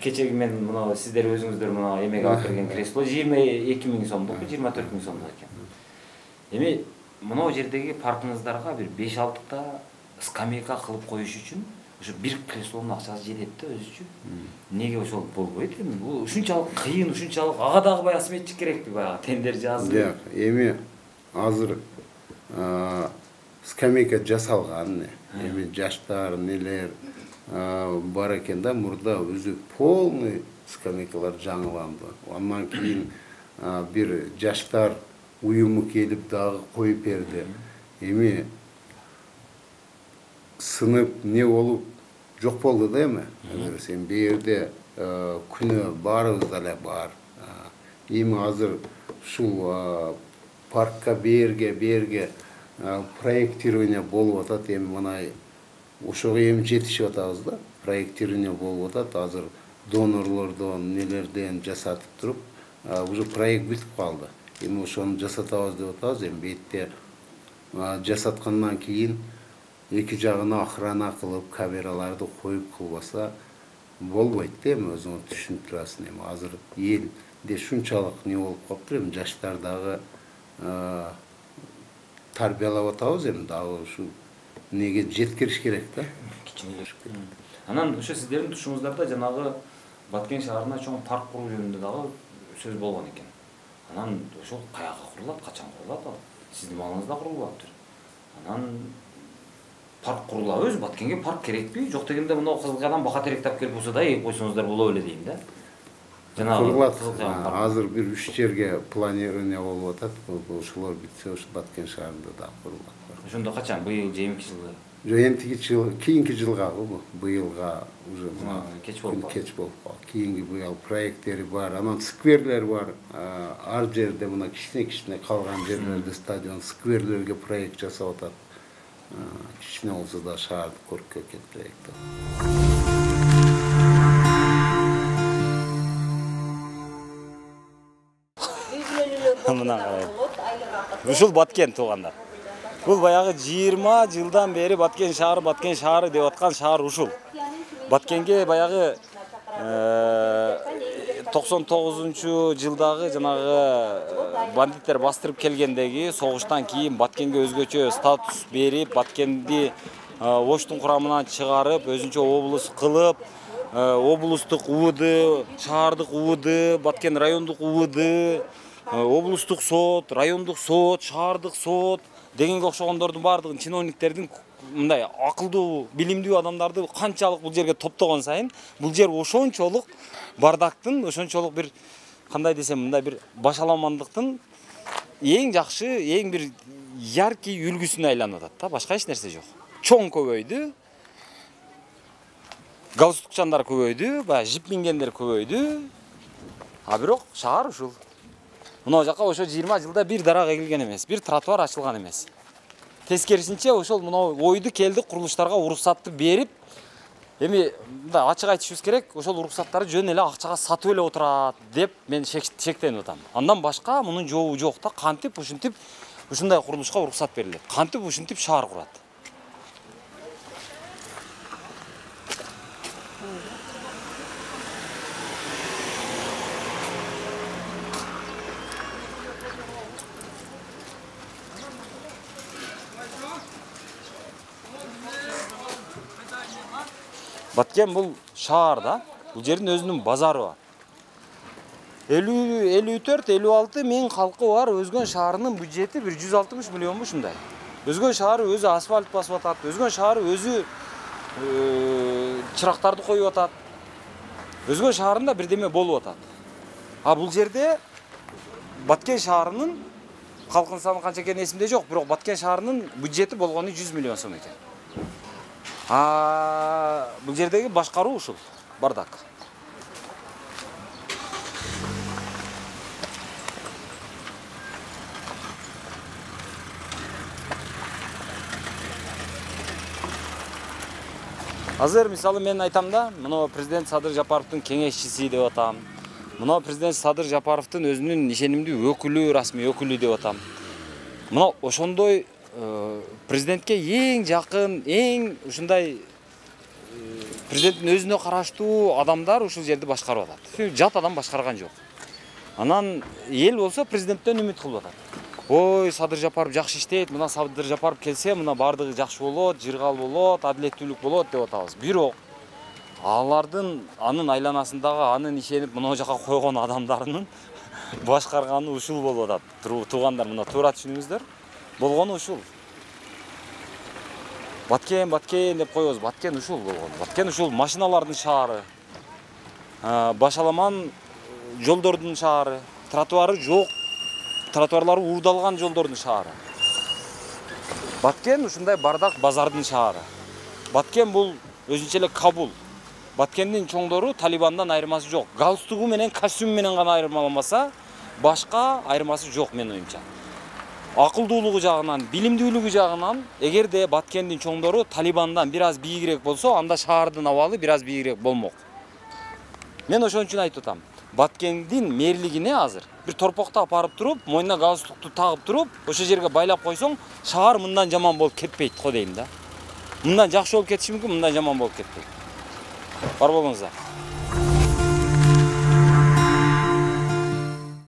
Кечеги мен мына сиздер өзүңүздөр мына эмеге алып берген кресло жыйырма эки миң сомдук, жыйырма төрт миң сомдук экен. Эми мына жердеги паркыңыздарга бир беш алтыта скамейка кылып коюш үчүн ошо бир креслонун акчасы жетет да өзүчү. Неге ошол болбойт эми? Бул ушунчалык кыйын, ушунчалык ага дагы баягы сметчик керекпи, баягы тендер жазып. Жок, эми азыр скамейка жасалган, эми жаштар, нелер бар экен да, мурда өзү полный скамейкалар жаңыланды. Андан кийин бир жаштар уюму келип дагы коюп берди. Эми сынып не болуп жок болду да эми. Сен бу жерде күнөө баарыбыз эле бар. Эми азыр ушул паркка берге берге проектирование болуп атат. Эми мына ошого эми жетишип атабыз да. Проектирование болуп атат. Азыр донорлордон, нелерден жасатып туруп, уже проект бүтүп калды. Эми ошону жасатабыз деп атабыз. Эми бетте жасаткандан кийин эки жагына охрана кылып, камераларды коюп кылбаса болбойт да, эми өзүңөр түшүнүп турасың. Эми азыр элде шунчалык не болуп калыптыр, эми жаштар дагы тарбиялап атабыз, эми дагы ушу неге жеткириш керек да. Анан ошо сиздердин тушуңуздарда жанагы Баткен шаарына чоң парк куруу жөнүндө дагы сөз болгон экен. Анан ошол каяка курулат, качан курулат ал? Сиздин малыңызда курулаптыр. Анан парк курулабы, өзү Баткенге парк керекпи? Жок дегенде мына Кызылкаядан бака теректап келип болсо да эгип койсоңуздар боло беле дейм да. Курулат. Азыр бир үч жерге планирование болуп атат. Ошолор бүтсө ошо Баткен шаарында да курулат. Ошондо качан? Быйыл же эмки жылы? Жок, эмтиги жыл, кийинки жылга бу. Быйылга уже кеч болуп кеч болуп калды. Кийинки быйыл проекттери бар, анан скверлер бар. Ар жерде мына кичине-кичине калган жерлерде стадион, скверлерге проект жасап атат. Кичине болсо да шаарды көрккө келтирет. Мына карай. Ушул Баткен туугандар. Бул баягы жыйырма жылдан бери Баткен шаары, Баткен шаары деп аткан шаар ушул. Баткенге баягы токсон тогузунчу жылдагы жанагы бандиттер бастырып келгендеги согуштан кийин Баткенге өзгөчө статус берип, Баткенди Оштун курамынан чыгарып, өзүнчө облус кылып, облустук УВД, шаардык УВД, Баткен райондук УВД, облустук сот, райондук сот, шаардык сот дегенге окшогондордун баардыгын чиновниктердин мындай акылдуу, билимдүү адамдарды канчалык бул жерге топтогон сайын, бул жер ошончолук бардактын, ошончолук бир кандай десем, мындай бир башаламандыктын эң жакшы, эң бир яркий үлгүсүнө айланып атат да, башка эч нерсе жок. Чоң көбөйдү. Галстукчандар көбөйдү, баягы жип мингендер көбөйдү. А бирок шаар ушул. Мына жака ошо жыйырма жылда бир дарак эгилген эмес, бир тротуар ачылган эмес. Тескерисинче ошол мына ойду келди курулуштарга уруксатты берип, эми мындай ачык айтышыбыз керек, ошол уруксаттарды жөн эле акчага сатып эле отурат деп мен шектенип атам. Андан башка мунун жообу жок да, кантип ушинтип ушундай курулушка уруксат берилет, кантип ушинтип шаар курат. Баткен бул шаар да, бул жердин өзүнүн базары бар. элүү төрт элүү алты миң калкы бар, Өзгөн шаарынын бюджети бир жүз алтымыш миллионбу ушундай. Өзгөн шаары өзү асфальт басып атат, Өзгөн шаары өзү чырактарды коюп атат. Өзгөн шаарында бирдеме болуп атат. А бул жерде Баткен шаарынын калкын саны канча экени эсимде жок, бирок Баткен шаарынын бюджети болгону жүз миллион сом экен. А бул жердеги башкаруу ушул, бардак. Азыр мисалы мен айтам да, мына президент Садыр Жапаровдун кеңешчиси деп атам. Мына президент Садыр Жапаровдун өзүнүн ишенимдүү өкүлү, расмий өкүлү деп атам. Мына ошондой президентке эң жакын, эң ушундай президенттин өзүнө караштуу адамдар ушул жерди башкарып атат. Жат адам башкарган жок. Анан эл болсо президенттен үмүт кылып атат. ой Садыр Жапаров жакшы иштейт, мына Садыр Жапаров келсе мына бардыгы жакшы болот, жыргал болот, адилеттүүлүк болот деп атабыз. Бирок алардын анын айланасындагы анын ишенип мына жака койгон адамдарынын башкарганы ушул болуп атат. Туугандар мына туура түшүнүңүздөр. Болгону ушул. Баткен, Баткен деп коебуз. Баткен ушул болгон. Баткен ушул машиналардын шаары. Башаламан жолдордун шаары. Тротуары жок. Тротуарлары уурдалган жолдордун шаары. Баткен ушундай бардак базардын шаары. Баткен бул өзүнчө эле Кабул. Баткендин чоңдору Талибандан айырмасы жок. Галстугу менен, костюм менен гана айырмаламаса, башка айырмасы жок менин оюмча. Акылдуулугу жагынан, билимдүүлүгү жагынан, эгерде Баткендин чоңдору Талибандан бир аз бийигирээк болсо, анда шаардын абалы бир аз бийигирээк болмок. Мен ошон үчүн айтып атам. Баткендин мэрлигине азыр бир торпокто апарып туруп, мойнуна галстукту тагып туруп, ошол жерге байлап койсоң, шаар мындан жаман болуп кетпейт го дейм да. Мындан жакшы болуп кетиши мүмкүн, мындан жаман болуп кетпейт. Бар болуңуздар.